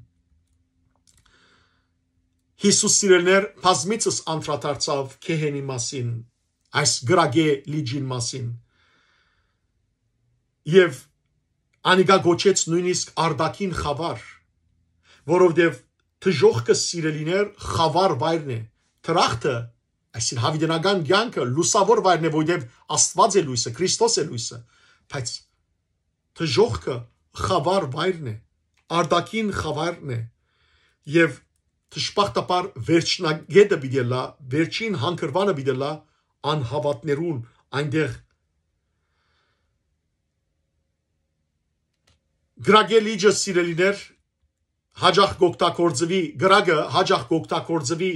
Յիսուս, սիրելիներ, բազմիցս անդրադարձաւ գեհենի մասին, այս կրակի լիճին մասին։ Եւ անիկա կոչեց նոյնիսկ արտաքին խաւար, որովհետեւ դժոխքը, սիրելիներ, խաւար վայրն է։ Դրախտը, այսինքն՝ հաւիտենական կեանքը, լուսաւոր վայրն է, որովհետեւ Աստուած է լոյսը, Քրիստոս է լոյսը, բայց դժոխքը խաւար վայրն է, արտաքին խաւարն է, եւ դժբախտաբար վերջնագետը պիտի ըլլայ, վերջին հանգրուանը պիտի ըլլայ անհաւատներուն, այնտեղ կրակի լիճը, սիրելիներ, հաճախ կօգտագործուի, կրակը հաճախ կօգտագործուի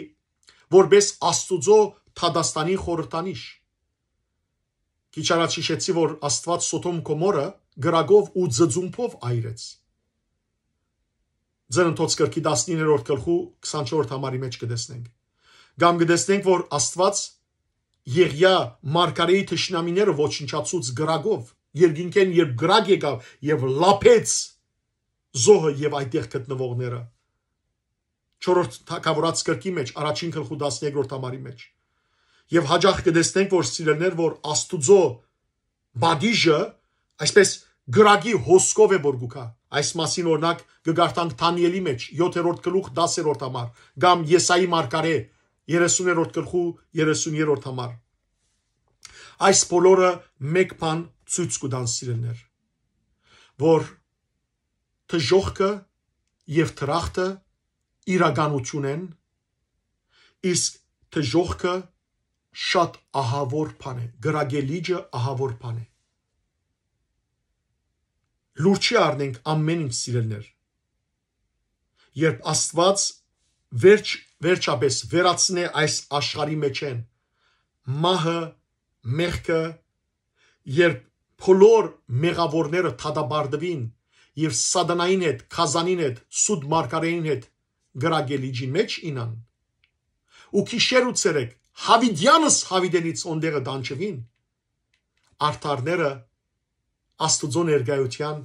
որպես Աստուծոյ դատաստանի խորհրդանիշ։ Քիչ առաջ յիշեցի, որ Աստուած Սոդոմ Գոմորը կրակով ու ձծումբով այրեց։ Ծննդոց գրքի տասնիններորդ գլխու քսանչորսերորդ համարի մէջ կը տեսնենք։ Կամ կը տեսնենք, որ Աստուած Եղիա մարգարէի թշնամիները ոչնչացուց կրակով, երկինքէն երբ կրակ եկաւ եւ լափեց զոհը եւ այդտեղ գտնուողները։ Չորրորդ թագաւորաց գրքի մէջ, առաջին գլխու տասներկրորդ համարի մէջ։ Եւ հաճախ կը տեսնենք, որ, սիրելիներ, որ Աստուծոյ պատիժը, այսպես, կրակի հոսքով է որ գուքա։ Այս մասին, օրինակ, կը կարդանք Դանիէլի մէջ, յոթերորդ գլուխ, տասերորդ համար, կամ Եսայի մարգարէ, երեսուներորդ գլխու, երեսուներորդ համար։ Այս բոլորը մէկ բան ցոյց կու տան, սիրելիներ, որ դժոխքը եւ դրախտը իրականություն են, իսկ դժոխքը շատ ահաւոր բան է, կրակե լիճը ահաւոր բան է։ Լուր չի առնենք ամեն ինչ, սիրելիներ։ Երբ Աստուած վերջ-, վերջապէս վերացնէ այս աշխարհի մէջէն մահը, մեղքը, երբ բոլոր մեղաւորները դատապարտուին եւ Սատանային հետ, գազանին հետ, սուտ մարգարէին հետ կրակե լիճին մէջ իյնան, ու գիշեր ու ցերեկ, յաւիտեանս յաւիտենից, յոն տեղը տանջուին, արդարները Աստուծոյ ներկայութեան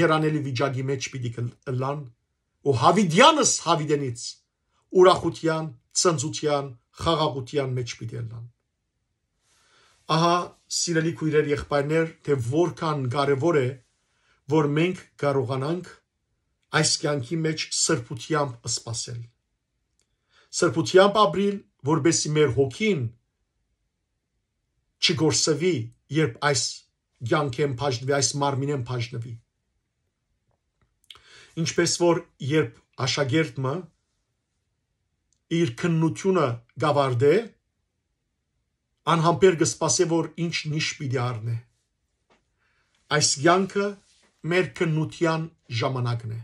երանելի վիճակի մէջ պիտի կլ-, ըլլան, ու յաւիտեանս յաւիտենից ուրախութեան, ցնծութեան, խաղաղութեան մէջ պիտի ըլլան։ Ահա, սիրելի քոյրեր, եղբայրներ, թէ որքան կարեւոր է, որ մենք կարողանանք այս կեանքի մէջ սրբութեամբ սպասել։ Սրբութեամբ ապրիլ, որպեսզի մեր հոգին չկորսուի, երբ այս կեանքէն բաժնուի, այս մարմինէն բաժնուի։ Ինչպէս որ երբ աշակերտ մը իր քննութիւնը կ'աւարտէ, անհամբեր կը սպասէ, որ ինչ նիշ պիտի առնէ։ Այս կեանքը մեր քննութեան ժամանակն է։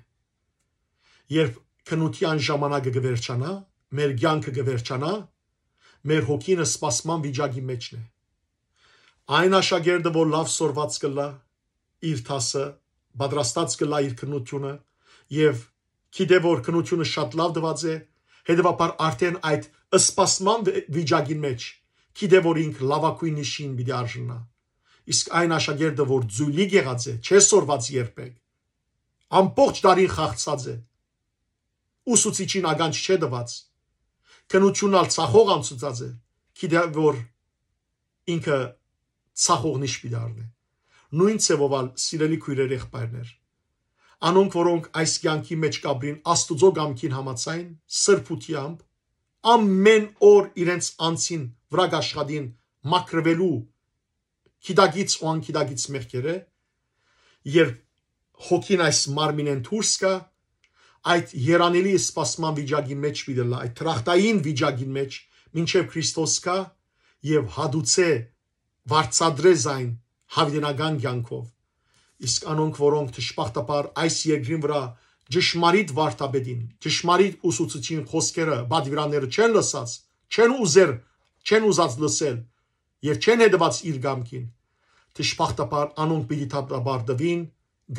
Երբ քննութեան ժամանակը կը վերջանայ, մեր կեանքը կը վերջանայ, մեր հոգին սպասման վիճակի մէջն է։ Այն աշակերտը, որ լաւ սորված կ'ըլլայ իր դասը, պատրաստած կ'ըլլայ իր քննութիւնը եւ գիտէ, որ քննութիւնը շատ լաւ տուած է, հետեւաբար արդէն այդ սպասման վի-, վիճակին մէջ գիտէ, որ ինք լաւագոյն նիշին պիտի արժանայ։ Իսկ այն աշակերտը, որ ձոյլիկ եղած է, չէ սորված երբեք, ամբողջ տարին խաղցած է, ուսուցիչին ականջ չէ տուած, քննութիւնն ալ ցախող անցուցած է, գիտէ, որ ինքը ցախող նիշ պիտի առնէ։ Նոյն ձեւով ալ, սիրելի քոյրեր, եղբայրներ, անոնք, որոնք այս կեանքի մէջ կ'ապրին Աստուծոյ կամքին համաձայն, սրբութեամբ, ամէն օր իրենց անձին վրայ կ'աշխատին մաքրուելու գիտակից ու անգիտակից մեղքերէ, երբ հոգին այս մարմինէն դուրս գայ, այդ երանելի սպասման վիճակի մէջ պիտի ըլլայ, այդ դրախտային վիճակին մէջ, մինչեւ Քրիստոս գայ եւ հատուցէ, վարձատրէ զայն յաւիտենական կեանքով։ Իսկ անոնք, որոնք դժբախտաբար այս երկրին վրայ ճշմարիտ վարդապետին, ճշմարիտ ուսուցիչին խօսքերը, պատուիրանները չեն լսած, չեն ուզեր, չեն ուզած լսել եւ չեն հետեւած իր կամքին, դժբախտաբար անոնք պիտի դատապարտուին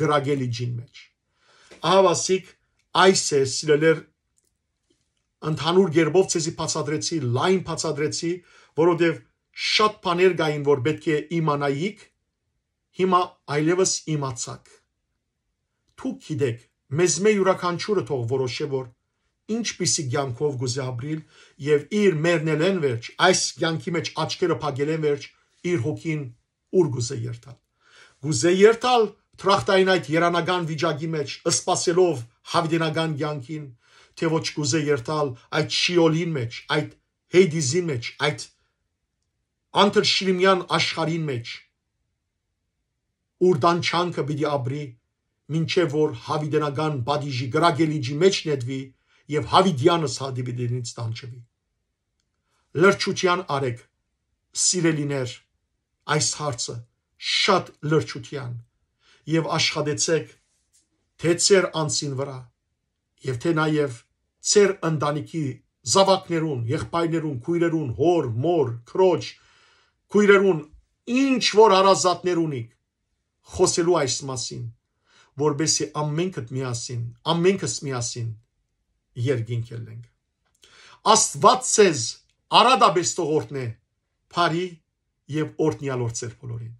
կրակե լիճին մէջ։ Ահա, ասիկ, այս է, սիրելիներ, ընդհանուր կերպով ձեզի բացատրեցի, լայն բացատրեցի, որովհետեւ շատ բաներ կային, որ պէտք է իմանայիք, հիմա այլեւս իմացաք։ Դուք գիտէք, մեզմէ իւրաքանչիւրը թող որոշէ, որ ինչպիսի կեանքով կ'ուզէ ապրիլ եւ իր մեռնելէն վերջ, այս կեանքի մէջ աչքերը փակելէն վերջ, իր հոգին ուր կ'ուզէ երթալ։ Կ'ուզէ երթալ դրախտային այդ երանական վիճակի մէջ, սպասելով յաւիտենական կեանքին, թէ ոչ կ'ուզէ երթալ այդ շիոլին մէջ, այդ Հեյդիզին մէջ, այդ անթրշիմեան աշխարհին մէջ, ուր տանջանքը պիտի ապրի, մինչեւ որ յաւիտենական պատիժի կրակե լիճի մէջ նետուի եւ յաւիտեանս յաւիտենից տանջուի։ Լրջութեան արեք, սիրելիներ, այս հարցը, շատ լրջութեան, եւ աշխատեցեք թէ ձեր անձին վրայ, եւ թէ նաեւ ձեր ընտանիքի զաւակներուն, եղբայրներուն, քոյրերուն, հօր, մօր, քրոջ, քոյրերուն, ինչ որ հարազատներ ունիք, խօսելու այս մասին, որպեսզի ամենքդ միասին, ամենքս միասին երկինք ելնենք։ Աստուած ձեզ արատապէս թող օրհնէ, բարի եւ օրհնեալ օր ձեր բոլորին։